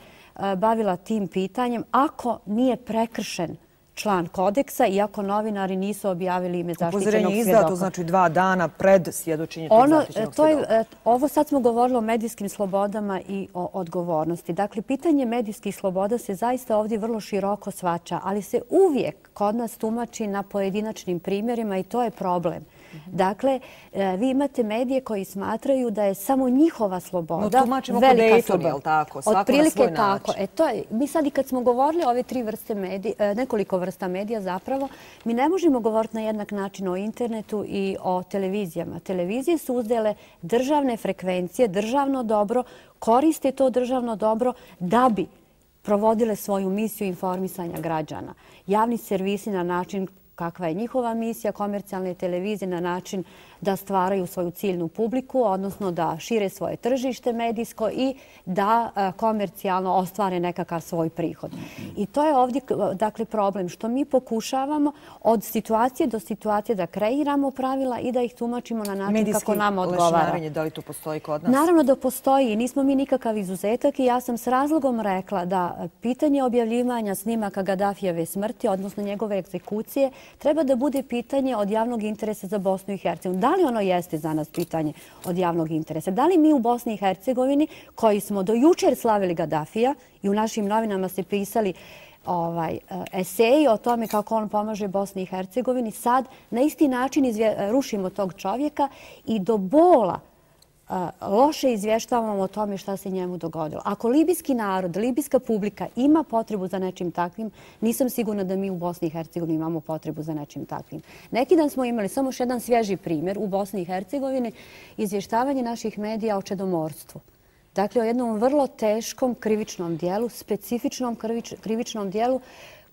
bavila tim pitanjem ako nije prekršen član kodeksa, iako novinari nisu objavili ime zaštićenog svjedoka. Upozorenje izdato, znači dva dana pred svjedočenje tog zaštićenog svjedoka. Ovo sad smo govorili o medijskim slobodama i o odgovornosti. Dakle, pitanje medijskih sloboda se zaista ovdje vrlo široko shvaća, ali se uvijek kod nas tumači na pojedinačnim primjerima i to je problem. Dakle, vi imate medije koji smatraju da je samo njihova sloboda velika sloboda. Otprilike tako. E, to je, mi sad i kad smo govorili o ove tri vrste medija, nekoliko vrsta medija zapravo, mi ne možemo govoriti na jednak način o internetu i o televizijama. Televizije su uzele državne frekvencije, državno dobro, koriste to državno dobro da bi provodile svoju misiju informisanja građana. Javni servisi na način kakva je njihova misija, komercijalne televizije na način da stvaraju svoju ciljnu publiku, odnosno da šire svoje tržište medijsko i da komercijalno ostvare nekakav svoj prihod. I to je ovdje dakle, problem što mi pokušavamo od situacije do situacije da kreiramo pravila i da ih tumačimo na način medijski kako nama odgovara. Lešinarenje, da li to postoji kod nas? Naravno da postoji i nismo mi nikakav izuzetak i ja sam s razlogom rekla da pitanje objavljivanja snimaka Gaddafijeve smrti, odnosno njegove egzekucije, treba da bude pitanje od javnog interesa za Bosnu i Hercegovinu. Da li ono jeste za nas pitanje od javnog interesa? Da li mi u Bosni i Hercegovini, koji smo do jučer slavili Gaddafija i u našim novinama se pisali ovaj, eseji o tome kako on pomaže Bosni i Hercegovini, sad na isti način izvje, rušimo tog čovjeka i do bola loše izvještavamo o tome šta se njemu dogodilo. Ako libijski narod, libijska publika ima potrebu za nečim takvim, nisam sigurna da mi u Bosni i Hercegovini imamo potrebu za nečim takvim. Neki dan smo imali samo još jedan svježi primjer u Bosni i Hercegovini, izvještavanje naših medija o čedomorstvu. Dakle, o jednom vrlo teškom krivičnom dijelu, specifičnom krivičnom dijelu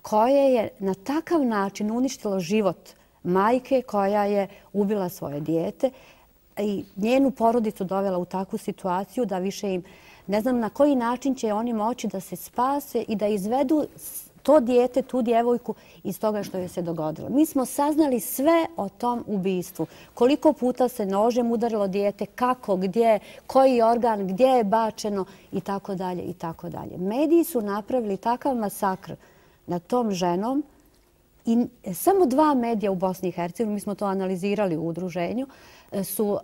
koje je na takav način uništilo život majke koja je ubila svoje dijete i njenu porodicu dovela u takvu situaciju da više im, ne znam na koji način će oni moći da se spase i da izvedu to dijete, tu djevojku iz toga što je se dogodilo. Mi smo saznali sve o tom ubistvu. Koliko puta se nožem udarilo dijete, kako, gdje, koji organ, gdje je bačeno i tako dalje i tako dalje. Mediji su napravili takav masakr nad tom ženom I samo dva medija u Bosni i Hercegovini, mi smo to analizirali u udruženju, su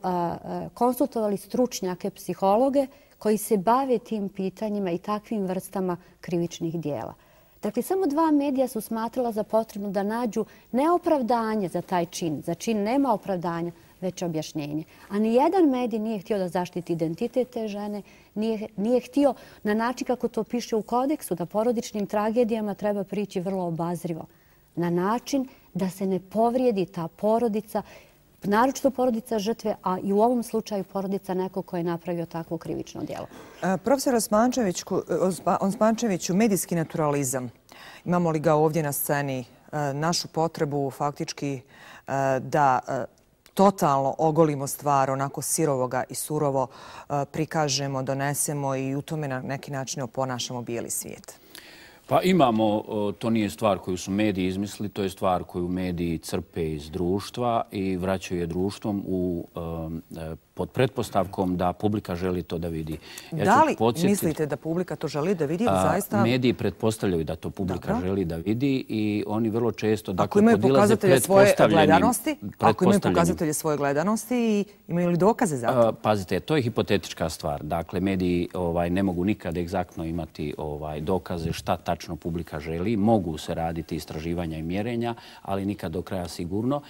konsultovali stručnjake, psihologe koji se bave tim pitanjima i takvim vrstama krivičnih dijela. Dakle, samo dva medija su smatrala za potrebno da nađu ne opravdanje za taj čin. Za čin nema opravdanja, već objašnjenje. A ni jedan medij nije htio da zaštiti identitet te žene, nije, nije htio na način kako to piše u kodeksu, da porodičnim tragedijama treba prići vrlo obazrivo. Na način da se ne povrijedi ta porodica, naročito porodica žrtve, a i u ovom slučaju porodica nekog ko je napravio takvo krivično djelo. Profesor Osmančeviću, medijski naturalizam. Imamo li ga ovdje na sceni? Našu potrebu faktički da totalno ogolimo stvar, onako sirovoga i surovo prikažemo, donesemo i u tome na neki način oponašamo bijeli svijet. Pa imamo, to nije stvar koju su mediji izmislili, to je stvar koju mediji crpe iz društva i vraćaju je društvom u, pod pretpostavkom da publika želi to da vidi. Ja da li podsjetiti, mislite da publika to želi da vidi ili zaista? Mediji pretpostavljaju da to publika Dobro. želi da vidi i oni vrlo često dakle, ako imaju pokazatelje svoje gledanosti, ako imaju pokazatelje svoje gledanosti i imaju li dokaze za to? Pazite, to je hipotetička stvar. Dakle, mediji ovaj, ne mogu nikad egzaktno imati ovaj, dokaze šta tačno publika želi. Mogu se raditi istraživanja i mjerenja, ali nikad do kraja sigurno.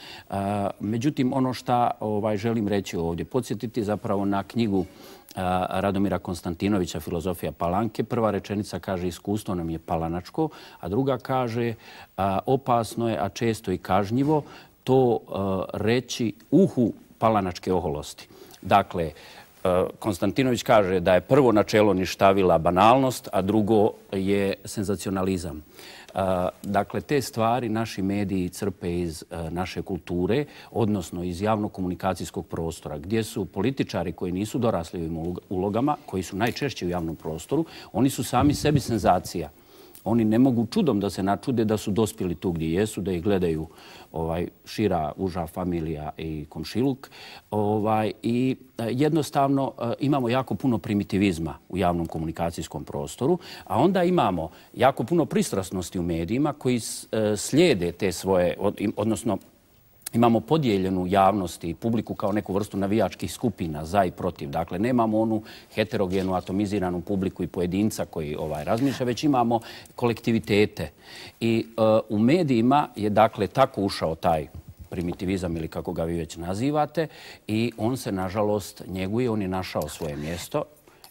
Međutim, ono šta ovaj, želim reći ovdje, podsjetiti zapravo na knjigu Radomira Konstantinovića Filozofija Palanke. Prva rečenica kaže iskustvo nam je palanačko, a druga kaže opasno je, a često i kažnjivo, to reći uhu palanačke oholosti. Dakle, Konstantinović kaže da je prvo načelo ništavila banalnost, a drugo je senzacionalizam. Dakle, te stvari naši mediji crpe iz naše kulture, odnosno iz javno-komunikacijskog prostora, gdje su političari koji nisu dorasli ovim ulogama, koji su najčešće u javnom prostoru, oni su sami sebi senzacija. Oni ne mogu čudom da se načude da su dospjeli tu gdje jesu, da ih gledaju ovaj, šira, uža familija i komšiluk. Ovaj, I jednostavno imamo jako puno primitivizma u javnom komunikacijskom prostoru, a onda imamo jako puno pristrasnosti u medijima koji slijede te svoje, odnosno imamo podijeljenu javnost i publiku kao neku vrstu navijačkih skupina za i protiv. Dakle, nemamo onu heterogenu, atomiziranu publiku i pojedinca koji ovaj, razmišlja, već imamo kolektivitete. I uh, u medijima je dakle tako ušao taj primitivizam ili kako ga vi već nazivate i on se nažalost njeguje, on je našao svoje mjesto.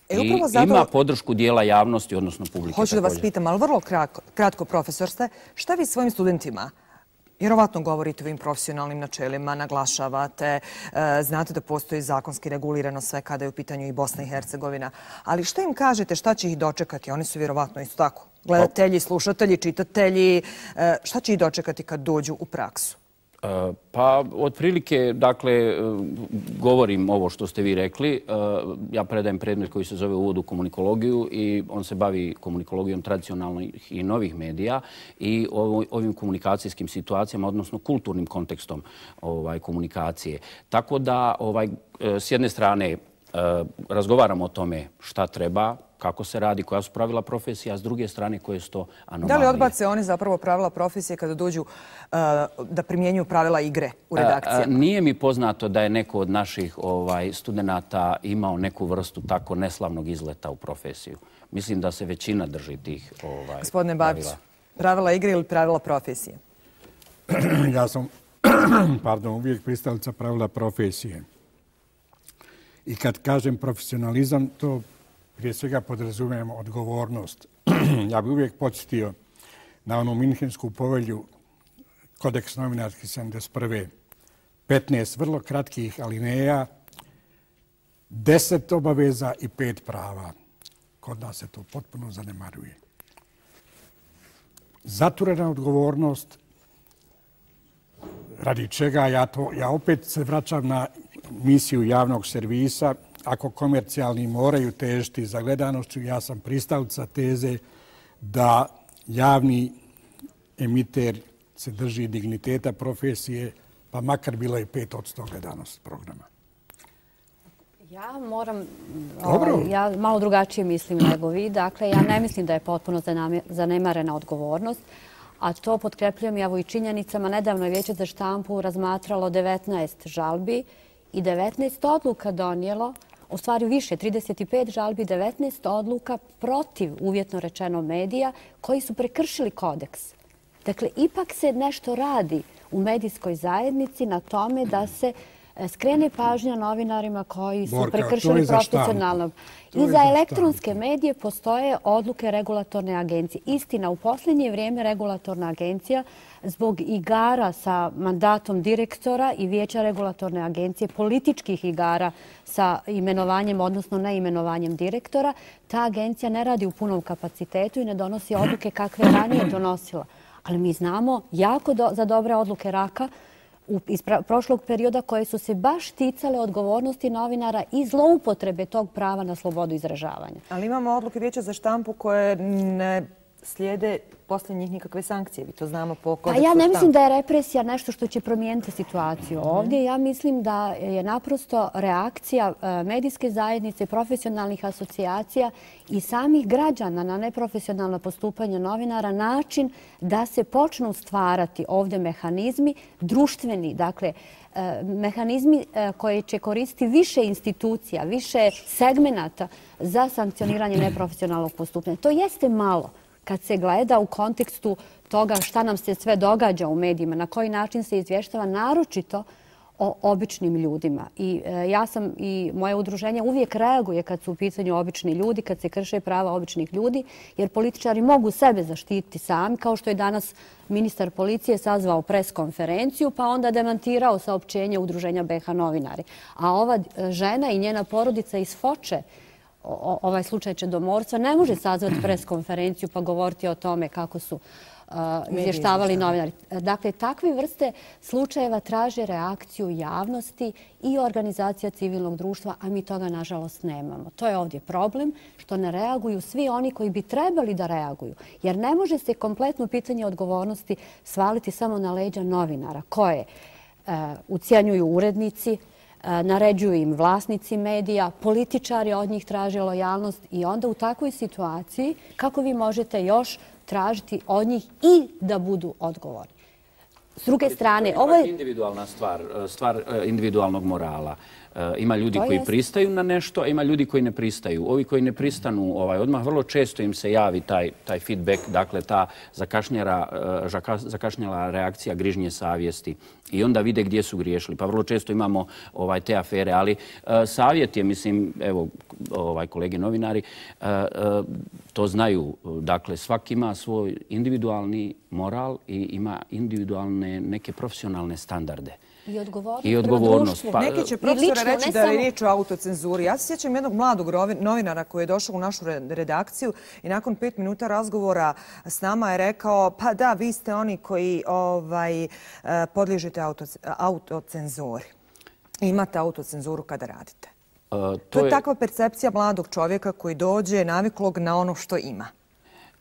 E, I zato... ima podršku dijela javnosti, odnosno publike. Hoću da vas pitam, ali vrlo kratko, kratko profesor ste, šta vi svojim studentima vjerovatno govorite o ovim profesionalnim načelima, naglašavate, znate da postoji zakonski regulirano sve kada je u pitanju i Bosna i Hercegovina. Ali što im kažete, šta će ih dočekati? Oni su vjerovatno isto tako. Gledatelji, slušatelji, čitatelji. Šta će ih dočekati kad dođu u praksu? Pa, otprilike, dakle, govorim ovo što ste vi rekli. Ja predajem predmet koji se zove Uvod u komunikologiju i on se bavi komunikologijom tradicionalnih i novih medija i ovim komunikacijskim situacijama, odnosno kulturnim kontekstom ovaj, komunikacije. Tako da, ovaj, s jedne strane, razgovaramo o tome šta treba, kako se radi, koja su pravila profesije, a s druge strane koje su to anomalije. Da li odbace oni zapravo pravila profesije kada dođu uh, da primjenjuju pravila igre u redakcijama? A, a, nije mi poznato da je neko od naših ovaj, studenta imao neku vrstu tako neslavnog izleta u profesiju. Mislim da se većina drži tih ovaj, Gospodine Babić, pravila igre ili pravila profesije? Ja sam pardon, uvijek pristalica pravila profesije. I kad kažem profesionalizam, to prije svega podrazumijem odgovornost. Ja bih uvijek podsjetio na onu Minhensku povelju, kodeks novinarski sedamdeset prve. petnaest vrlo kratkih alineja, deset obaveza i pet prava. Kod nas se to potpuno zanemaruje. Zaturena odgovornost, radi čega ja, to, ja opet se vraćam na misiju javnog servisa. Ako komercijalni moraju težiti za gledanošću, ja sam pristalica teze da javni emiter se drži digniteta profesije, pa makar bilo i pet odsto gledanost programa. Ja moram, ovaj, ja malo drugačije mislim nego vi. Dakle, ja ne mislim da je potpuno zanemarena odgovornost, a to potkrepljujem evo i činjenicama. Nedavno je Vijeće za štampu razmatralo devetnaest žalbi i devetnaest odluka donijelo, u stvari više, trideset pet žalbi, devetnaest odluka protiv, uvjetno rečeno, medija koji su prekršili kodeks. Dakle, ipak se nešto radi u medijskoj zajednici na tome da se skrene pažnja novinarima koji su prekršili profesionalno. I za elektronske medije postoje odluke regulatorne agencije. Istina, u posljednje vrijeme regulatorna agencija zbog igara sa mandatom direktora i Vijeća regulatorne agencije, političkih igara sa imenovanjem, odnosno neimenovanjem direktora, ta agencija ne radi u punom kapacitetu i ne donosi odluke kakve ranije donosila. Ali mi znamo jako do, za dobre odluke Raka iz prošlog perioda koje su se baš ticale odgovornosti novinara i zloupotrebe tog prava na slobodu izražavanja. Ali imamo odluke Vijeća za štampu koje ne slijede poslije njih nikakve sankcije. Vi to znamo po kodeksu štampu. Ja ne mislim štampu. da je represija nešto što će promijeniti situaciju ovdje. Ja mislim da je naprosto reakcija medijske zajednice, profesionalnih asocijacija i samih građana na neprofesionalno postupanje novinara način da se počnu stvarati ovdje mehanizmi društveni, dakle, mehanizmi koje će koristiti više institucija, više segmenata za sankcioniranje neprofesionalnog postupanja. To jeste malo kad se gleda u kontekstu toga šta nam se sve događa u medijima, na koji način se izvještava, naročito o običnim ljudima. I ja sam i moje udruženje uvijek reaguje kad su u pitanju obični ljudi, kad se krše prava običnih ljudi, jer političari mogu sebe zaštititi sami, kao što je danas ministar policije sazvao pres konferenciju, pa onda demantirao saopćenje udruženja B H novinari. A ova žena i njena porodica iz Foče, ovaj slučaj čedomorstva, ne može sazvati pres konferenciju pa govoriti o tome kako su izvještavali novinari. Dakle, takve vrste slučajeva traže reakciju javnosti i organizacija civilnog društva, a mi toga nažalost nemamo. To je ovdje problem, što ne reaguju svi oni koji bi trebali da reaguju. Jer ne može se kompletno pitanje odgovornosti svaliti samo na leđa novinara koje ucijenjuju urednici, naređuju im vlasnici medija, političari od njih traže lojalnost i onda u takvoj situaciji kako vi možete još tražiti od njih i da budu odgovorni. S druge strane, ovo je individualna stvar, stvar individualnog morala. Ima ljudi koji pristaju na nešto, a ima ljudi koji ne pristaju. Ovi koji ne pristanu, ovaj, odmah vrlo često im se javi taj, taj feedback, dakle ta zakašnjela reakcija grižnje savjesti i onda vide gdje su griješili. Pa vrlo često imamo ovaj, te afere, ali uh, savjet je, mislim, evo, ovaj, kolege novinari, uh, uh, to znaju. Dakle, svaki ima svoj individualni moral i ima individualne neke profesionalne standarde. I odgovornost. I odgovornost. Pa, neki će profesora reći da je riječ o autocenzuri. Ja se sjećam jednog mladog novinara koji je došao u našu redakciju i nakon pet minuta razgovora s nama je rekao pa da, vi ste oni koji ovaj, podliježete autocenzuri. Imate autocenzuru kada radite. Uh, to, to je, je takva percepcija mladog čovjeka koji dođe naviklog na ono što ima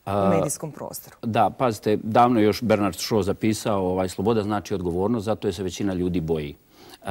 u medijskom prostoru. Da, pazite, davno je još Bernard Shaw zapisao ovaj, sloboda znači odgovornost, zato je se većina ljudi boji. Uh,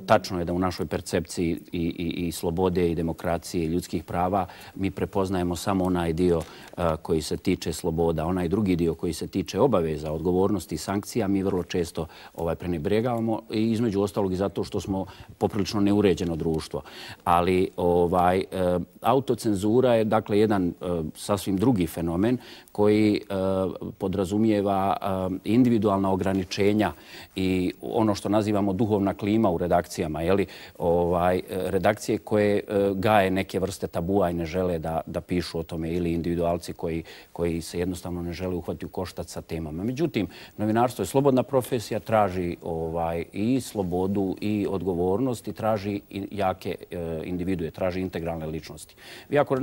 tačno je da u našoj percepciji i, i, i slobode i demokracije i ljudskih prava mi prepoznajemo samo onaj dio uh, koji se tiče sloboda, onaj drugi dio koji se tiče obaveza, odgovornosti i sankcija mi vrlo često ovaj, prenebregavamo i između ostalog i zato što smo poprilično neuređeno društvo. Ali ovaj, uh, autocenzura je dakle jedan uh, sasvim drugi fenomen koji uh, podrazumijeva uh, individualna ograničenja i ono što nazivamo duhovna klima u redakcijama, jeli, ovaj, redakcije koje uh, gaje neke vrste tabua i ne žele da, da pišu o tome ili individualci koji, koji se jednostavno ne žele uhvatiti u koštac sa temama. Međutim, novinarstvo je slobodna profesija, traži ovaj, i slobodu i odgovornost i traži i jake uh, individue, traži integralne ličnosti. Vi ako,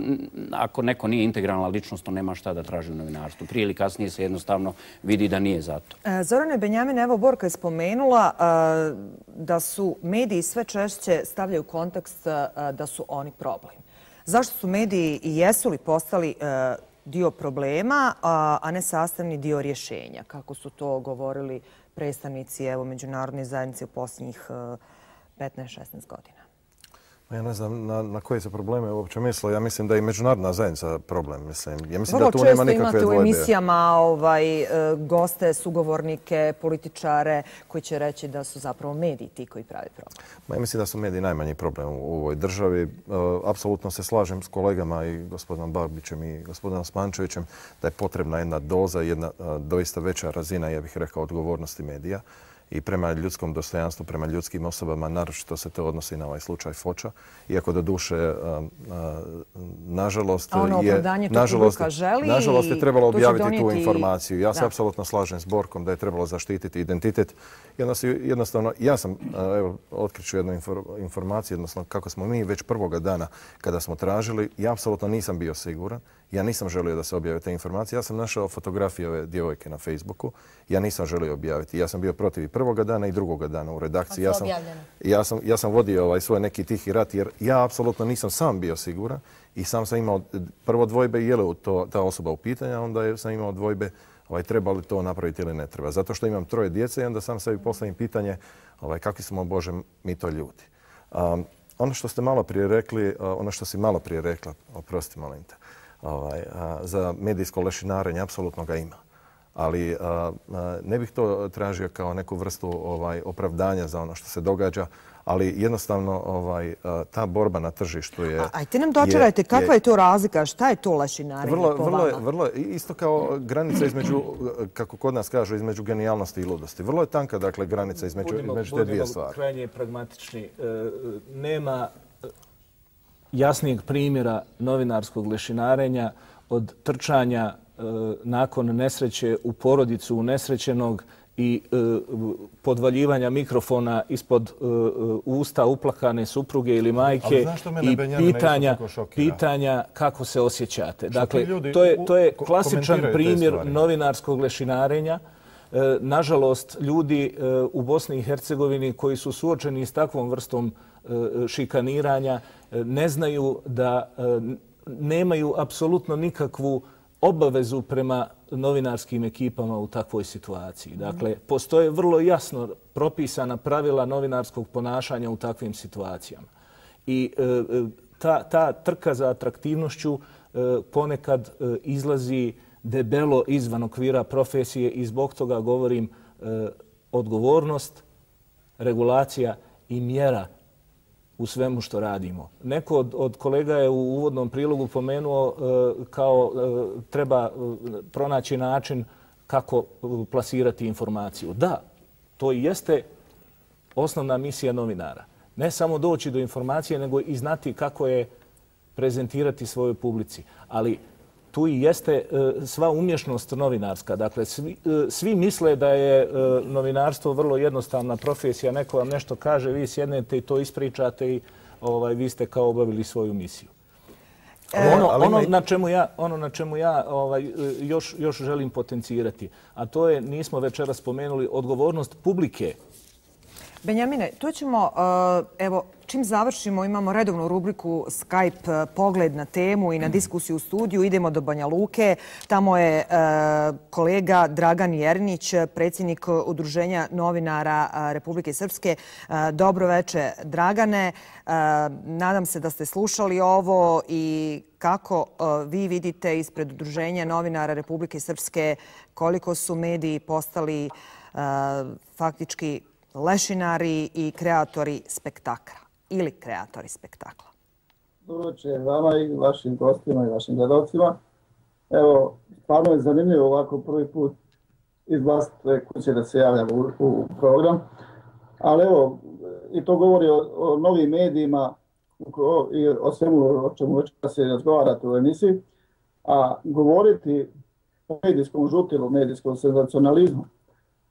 ako neko nije integralna ličnost, to nema šta da traži u novinarstvu. Prije ili kasnije se jednostavno vidi da nije zato. Zorane Benjamin, evo Borka je spomenula da su mediji sve češće stavljaju kontekst da su oni problem. Zašto su mediji i jesu li postali dio problema, a ne sastavni dio rješenja, kako su to govorili predstavnici evo, međunarodne zajednice u posljednjih petnaest šesnaest godina? Ja ne znam na, na koje se probleme uopće misle. Ja mislim da je i međunarodna zajednica problem. Mislim. Ja mislim Vrlo da tu nema nikakve imate dvojbe. u emisijama ovaj, e, goste, sugovornike, političare koji će reći da su zapravo mediji ti koji pravi problem. Ma, ja mislim da su mediji najmanji problem u, u ovoj državi. E, apsolutno se slažem s kolegama i gospodinom Babićem i gospodinom Spančevićem da je potrebna jedna doza, jedna a, doista veća razina, ja bih rekao, odgovornosti medija i prema ljudskom dostojanstvu, prema ljudskim osobama, naročito se to odnosi na ovaj slučaj Foča. Iako do duše, nažalost, ono je, nažalost, želi nažalost je trebalo objaviti donijeti... tu informaciju. Ja da. se apsolutno slažem s Borkom da je trebalo zaštititi identitet. Jednostavno, ja sam, evo, otkriću jednu informaciju, odnosno kako smo mi već prvoga dana kada smo tražili, ja apsolutno nisam bio siguran. Ja nisam želio da se objave te informacije. Ja sam našao fotografije ove djevojke na Facebooku. Ja nisam želio objaviti. Ja sam bio protiv i prvoga dana i drugoga dana u redakciji. Ja sam, ja sam, ja sam vodio ovaj svoj neki tihi rat jer ja apsolutno nisam sam bio siguran i sam sam imao prvo dvojbe je li to ta osoba u pitanju, onda sam imao dvojbe ovaj, treba li to napraviti ili ne treba. Zato što imam troje djece i onda sam sebi postavim pitanje ovaj, kakvi smo, Bože, mi to ljudi. Um, ono što ste malo prije rekli, uh, ono što si malo prije rekla, oprosti molim te, Ovaj, a, za medijsko lešinarenje, apsolutno ga ima. Ali a, a, ne bih to tražio kao neku vrstu ovaj, opravdanja za ono što se događa, ali jednostavno ovaj, a, ta borba na tržištu je... A, ajte nam dočarajte, kakva je to razlika, šta je to lešinarenje vrlo, po vrlo, vama? Je, vrlo isto kao granica između, kako kod nas kažu, između genijalnosti i ludosti. Vrlo je tanka, dakle, granica između, budimo, između te dvije stvari. Budimo krajnje pragmatični. E, nema jasnijeg primjera novinarskog lešinarenja od trčanja e, nakon nesreće u porodicu unesrećenog i e, podvaljivanja mikrofona ispod e, usta uplakane supruge ili majke i pitanja, pitanja kako se osjećate. Dakle, to je, to je klasičan primjer novinarskog lešinarenja. E, nažalost, ljudi e, u Bosni i Hercegovini koji su suočeni s takvom vrstom e, šikaniranja ne znaju da nemaju apsolutno nikakvu obavezu prema novinarskim ekipama u takvoj situaciji. Dakle, postoje vrlo jasno propisana pravila novinarskog ponašanja u takvim situacijama. I ta, ta trka za atraktivnošću ponekad izlazi debelo izvan okvira profesije i zbog toga govorim odgovornost, regulacija i mjera u svemu što radimo. Neko od, od kolega je u uvodnom prilogu pomenuo e, kao e, treba pronaći način kako plasirati informaciju. Da, to i jeste osnovna misija novinara. Ne samo doći do informacije, nego i znati kako je prezentirati svojoj publici. Ali tu i jeste e, sva umješnost novinarska. Dakle, svi, e, svi misle da je e, novinarstvo vrlo jednostavna profesija. Neko vam nešto kaže, vi sjednete i to ispričate i ovaj, vi ste kao obavili svoju misiju. E, ono, ono, na čemu ja, ono na čemu ja ovaj, još, još želim potencirati, a to je, nismo večeras spomenuli, odgovornost publike. Benjamine, tu ćemo, evo, čim završimo, imamo redovnu rubriku Skype pogled na temu i na diskusiju u studiju. Idemo do Banja Luke. Tamo je kolega Dragan Jernić, predsjednik Udruženja novinara Republike Srpske. Dobro veče, Dragane. Nadam se da ste slušali ovo i kako vi vidite ispred Udruženja novinara Republike Srpske koliko su mediji postali faktički lešinari i kreatori spektakla ili kreatori spektakla. Dobro večer vama i vašim gostima i vašim gledalcima. Evo, stvarno je zanimljivo ovako prvi put iz vlastite kuće da se javljam u, u program. Ali evo, i to govori o, o novim medijima o, i o svemu o čemu već se razgovarate u emisiji. A govoriti o medijskom žutilu, medijskom senzacionalizmu,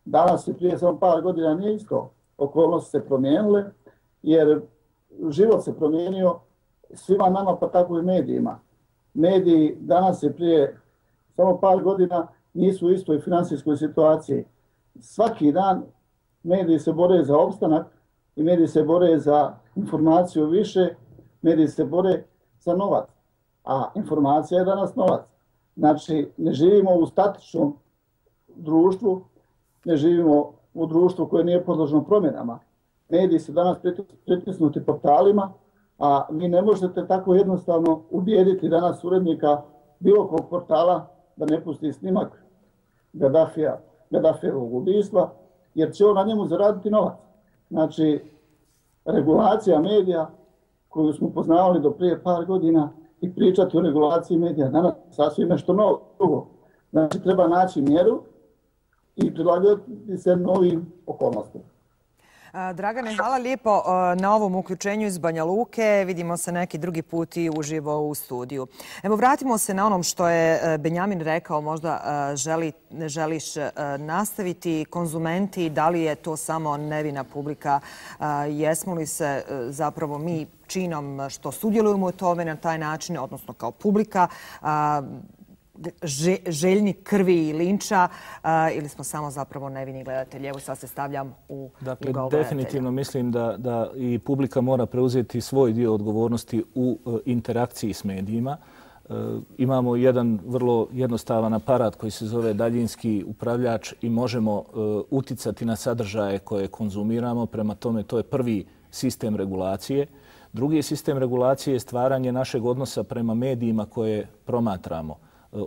danas i prije samo par godina nije isto. Okolnosti se promijenile jer život se promijenio svima nama pa tako i medijima. Mediji danas i prije samo par godina nisu u istoj finansijskoj situaciji. Svaki dan mediji se bore za opstanak i mediji se bore za informaciju više, mediji se bore za novac. A informacija je danas novac. Znači, ne živimo u statičnom društvu, ne živimo u društvu koje nije podložno promjenama. Mediji su danas pritisnuti portalima, A vi ne možete tako jednostavno ubijediti danas urednika bilo kog portala da ne pusti snimak Gaddafija, Gaddafijevog ubistva, jer će on na njemu zaraditi novac. Znači, regulacija medija koju smo poznavali do prije par godina i pričati o regulaciji medija danas sasvim nešto novo, drugo. Znači, treba naći mjeru i prilagoditi se novim okolnostima. Dragane, hvala lijepo na ovom uključenju iz Banja Luke. Vidimo se neki drugi put i uživo u studiju. Evo, vratimo se na onom što je Benjamin rekao. Možda želi, želiš nastaviti konzumenti. Da li je to samo nevina publika? Jesmo li se zapravo mi činom što sudjelujemo u tome na taj način, odnosno kao publika, željni krvi i linča ili smo samo zapravo nevini gledatelji? Evo sad se stavljam u dakle, ugao gledatelja. Definitivno mislim da, da i publika mora preuzeti svoj dio odgovornosti u uh, interakciji s medijima. Uh, imamo jedan vrlo jednostavan aparat koji se zove daljinski upravljač i možemo uh, uticati na sadržaje koje konzumiramo. Prema tome, to je prvi sistem regulacije. Drugi sistem regulacije je stvaranje našeg odnosa prema medijima koje promatramo.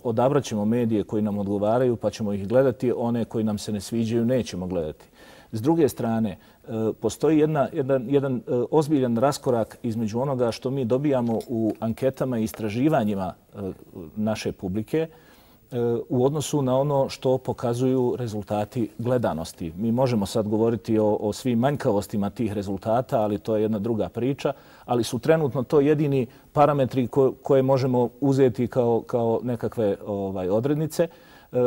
Odabrat ćemo medije koji nam odgovaraju pa ćemo ih gledati, one koji nam se ne sviđaju nećemo gledati. S druge strane, postoji jedna, jedan, jedan ozbiljan raskorak između onoga što mi dobijamo u anketama i istraživanjima naše publike u odnosu na ono što pokazuju rezultati gledanosti. Mi možemo sad govoriti o, o svim manjkavostima tih rezultata, ali to je jedna druga priča, ali su trenutno to jedini parametri ko, koje možemo uzeti kao, kao nekakve ovaj, odrednice. E,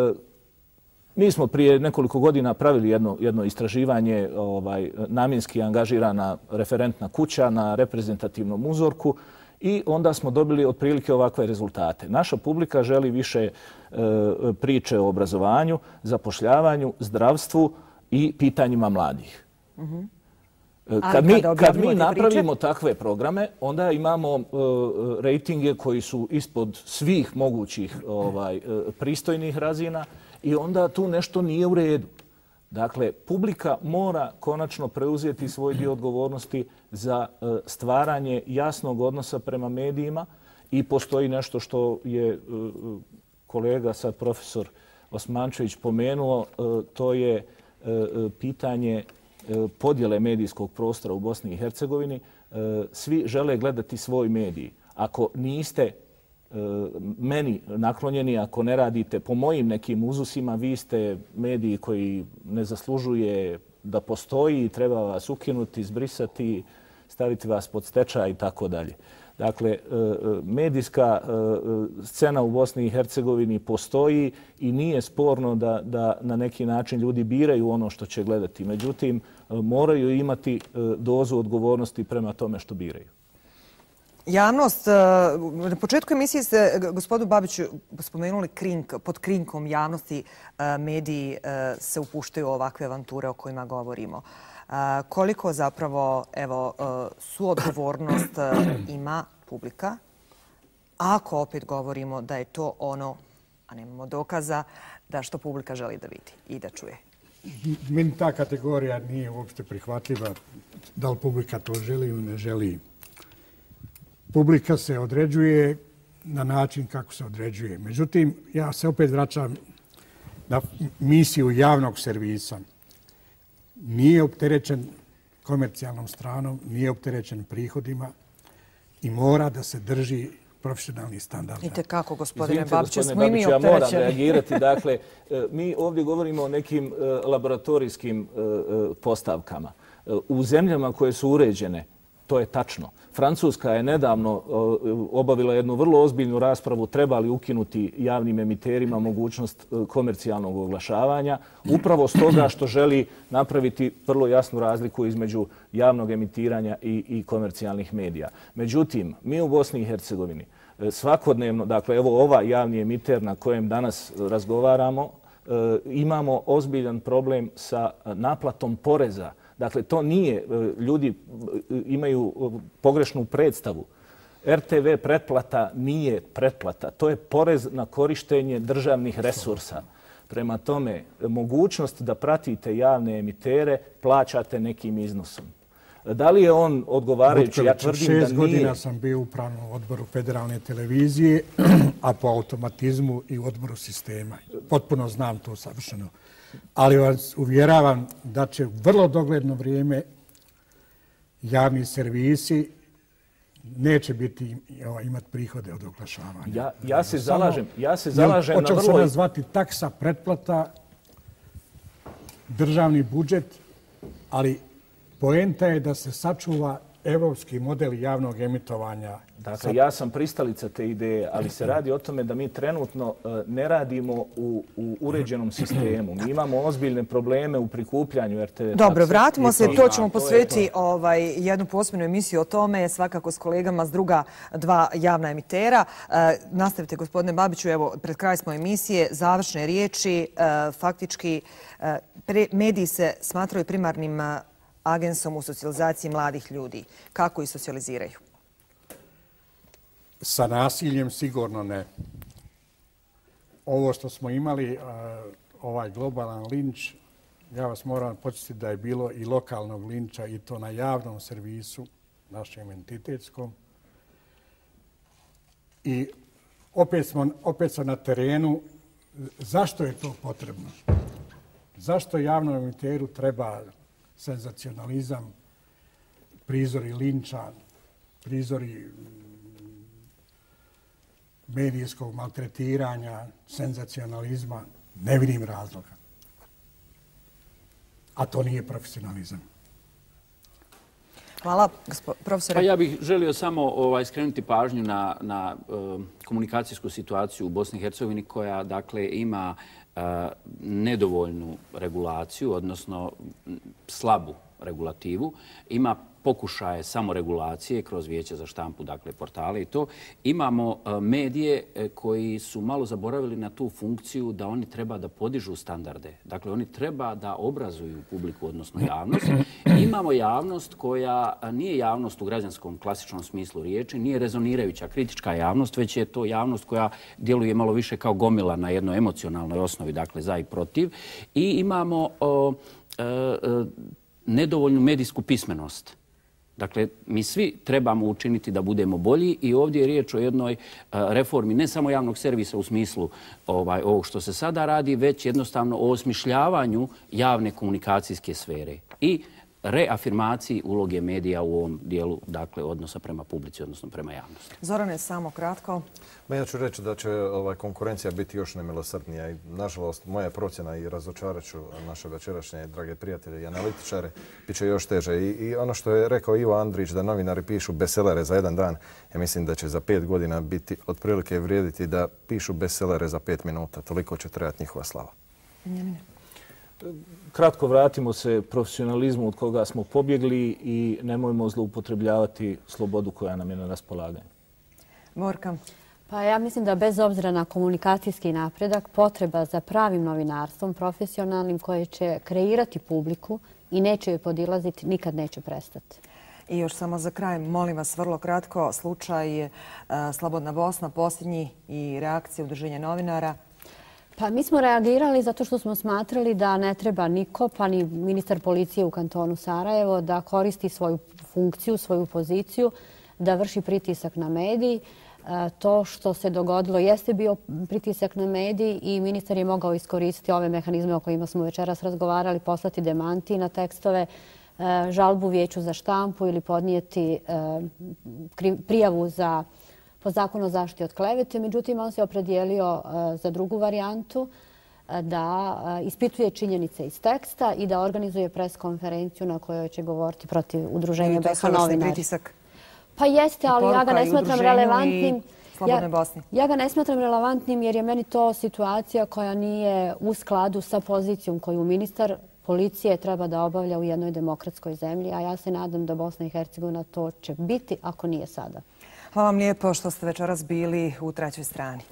mi smo prije nekoliko godina pravili jedno, jedno istraživanje, ovaj, namjenski angažirana referentna kuća na reprezentativnom uzorku, i onda smo dobili otprilike ovakve rezultate. Naša publika želi više e, priče o obrazovanju, zapošljavanju, zdravstvu i pitanjima mladih. Mm-hmm. Kad mi, kad mi napravimo priče? takve programe, onda imamo e, rejtinge koji su ispod svih mogućih ovaj, e, pristojnih razina i onda tu nešto nije u redu. Dakle, publika mora konačno preuzeti svoj dio odgovornosti za stvaranje jasnog odnosa prema medijima i postoji nešto što je kolega, sad profesor Osmančević, pomenuo, to je pitanje podjele medijskog prostora u Bosni i Hercegovini. Svi žele gledati svoj medij. Ako niste meni naklonjeni, ako ne radite po mojim nekim uzusima, vi ste mediji koji ne zaslužuje da postoji, treba vas ukinuti, izbrisati, staviti vas pod stečaj i tako dalje. Dakle, medijska scena u Bosni i Hercegovini postoji i nije sporno da, da na neki način ljudi biraju ono što će gledati. Međutim, moraju imati dozu odgovornosti prema tome što biraju. Javnost, na početku emisije ste, gospodu Babiću, spomenuli krink, pod krinkom javnosti mediji se upuštaju u ovakve avanture o kojima govorimo. Koliko zapravo evo, suodgovornost ima publika, ako opet govorimo da je to ono, a nemamo dokaza, da što publika želi da vidi i da čuje? Meni ta kategorija nije uopšte prihvatljiva, da li publika to želi ili ne želi. Publika se određuje na način kako se određuje. Međutim, ja se opet vraćam na misiju javnog servisa. Nije opterećen komercijalnom stranom, nije opterećen prihodima i mora da se drži profesionalni standard. Vidite kako, gospodine Babiću, smo i mi opterećeni. Ja moram reagirati. Dakle, mi ovdje govorimo o nekim laboratorijskim postavkama. U zemljama koje su uređene, to je tačno. Francuska je nedavno obavila jednu vrlo ozbiljnu raspravu treba li ukinuti javnim emiterima mogućnost komercijalnog oglašavanja, upravo s toga što želi napraviti vrlo jasnu razliku između javnog emitiranja i, i komercijalnih medija. Međutim, mi u Bosni i Hercegovini svakodnevno, dakle evo ovaj javni emiter na kojem danas razgovaramo, imamo ozbiljan problem sa naplatom poreza. Dakle, to nije, ljudi imaju pogrešnu predstavu. R T V pretplata nije pretplata. To je porez na korištenje državnih resursa. Prema tome, mogućnost da pratite javne emitere plaćate nekim iznosom. Da li je on odgovarajući? Ja tvrdim da nije. Šest godina sam bio u upravnom odboru federalne televizije, a po automatizmu i u odboru sistema. Potpuno znam to savršeno. Ali vas uvjeravam da će u vrlo dogledno vrijeme javni servisi neće biti imati prihode od oglašavanja. Ja, ja se zalažem, ja se zalažem na vrlo... Počeo se nazvati taksa, pretplata, državni budžet, ali poenta je da se sačuva evropski model javnog emitovanja. Dakle, ja sam pristalica te ideje, ali se radi o tome da mi trenutno ne radimo u, u uređenom sistemu. Mi imamo ozbiljne probleme u prikupljanju er te ve. Dobro, vratimo se, to ćemo posvetiti ovaj, jednu posebnu emisiju o tome, svakako s kolegama s druga dva javna emitera. E, nastavite, gospodine Babiću, evo, pred kraj smo emisije, završne riječi, e, faktički e, pre, mediji se smatraju primarnim agensom u socijalizaciji mladih ljudi. Kako ih socijaliziraju? Sa nasiljem sigurno ne. Ovo što smo imali, ovaj globalan linč, ja vas moram podsjetiti da je bilo i lokalnog linča i to na javnom servisu, našem entitetskom. I opet smo, opet smo na terenu. Zašto je to potrebno? Zašto javnom emiteru treba senzacionalizam, prizori linča, prizori medijskog maltretiranja, senzacionalizma? Ne vidim razloga. A to nije profesionalizam. Hvala, profesore. Pa ja bih želio samo ovaj, skrenuti pažnju na, na uh, komunikacijsku situaciju u Bosni i Hercegovini koja dakle ima uh, nedovoljnu regulaciju, odnosno slabu regulativu. Ima pokušaje samoregulacije kroz Vijeće za štampu, dakle portale i to. Imamo medije koji su malo zaboravili na tu funkciju da oni treba da podižu standarde. Dakle, oni treba da obrazuju publiku, odnosno javnost. Imamo javnost koja nije javnost u građanskom klasičnom smislu riječi, nije rezonirajuća kritička javnost, već je to javnost koja djeluje malo više kao gomila na jednoj emocionalnoj osnovi, dakle za i protiv. I imamo o, e, e, nedovoljnu medijsku pismenost. Dakle, mi svi trebamo učiniti da budemo bolji i ovdje je riječ o jednoj reformi ne samo javnog servisa u smislu ovaj, ovog što se sada radi, već jednostavno o osmišljavanju javne komunikacijske sfere i reafirmaciji uloge medija u ovom dijelu, dakle, odnosa prema publici, odnosno prema javnosti. Zorane, samo kratko. Ma ja ću reći da će ovaj, konkurencija biti još nemilosrdnija i, nažalost, moja procjena i razočarat ću naše večerašnje drage prijatelje i analitičare, bit će još teže. I, I ono što je rekao Ivo Andrić da novinari pišu bestsellere za jedan dan, ja mislim da će za pet godina biti otprilike vrijediti da pišu bestsellere za pet minuta. Toliko će trebati njihova slava. Njemine. Kratko vratimo se profesionalizmu od koga smo pobjegli i nemojmo zloupotrebljavati slobodu koja nam je na raspolaganju. Morka. Pa ja mislim da bez obzira na komunikacijski napredak, potreba za pravim novinarstvom, profesionalnim, koje će kreirati publiku i neće joj podilaziti, nikad neće prestati. I još samo za kraj, molim vas vrlo kratko, slučaj Slobodna Bosna, posljednji i reakcija Udruženja novinara. Pa mi smo reagirali zato što smo smatrali da ne treba niko, pa ni ministar policije u kantonu Sarajevo, da koristi svoju funkciju, svoju poziciju, da vrši pritisak na mediji. To što se dogodilo jeste bio pritisak na mediji i ministar je mogao iskoristiti ove mehanizme o kojima smo večeras razgovarali, poslati demanti na tekstove, žalbu Vijeću za štampu ili podnijeti prijavu za po zakonu o zaštiti od klevete. Međutim, on se opredijelio za drugu varijantu, da ispituje činjenice iz teksta i da organizuje pres konferenciju na kojoj će govoriti protiv Udruženja B H novinara. Pa jeste, ali ja ga ne smatram relevantnim. Ja, ja ga ne smatram relevantnim jer je meni to situacija koja nije u skladu sa pozicijom koju ministar policije treba da obavlja u jednoj demokratskoj zemlji, a ja se nadam da Bosna i Hercegovina to će biti ako nije sada. Hvala vam lijepo što ste večeras bili u trećoj strani.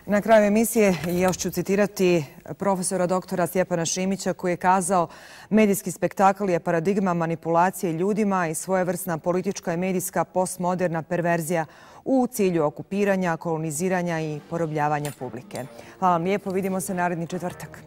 Na kraju emisije još ću citirati profesora doktora Stjepana Šimića koji je kazao: medijski spektakl je paradigma manipulacije ljudima i svojevrsna politička i medijska postmoderna perverzija u cilju okupiranja, koloniziranja i porobljavanja publike. Hvala vam lijepo, vidimo se naredni četvrtak.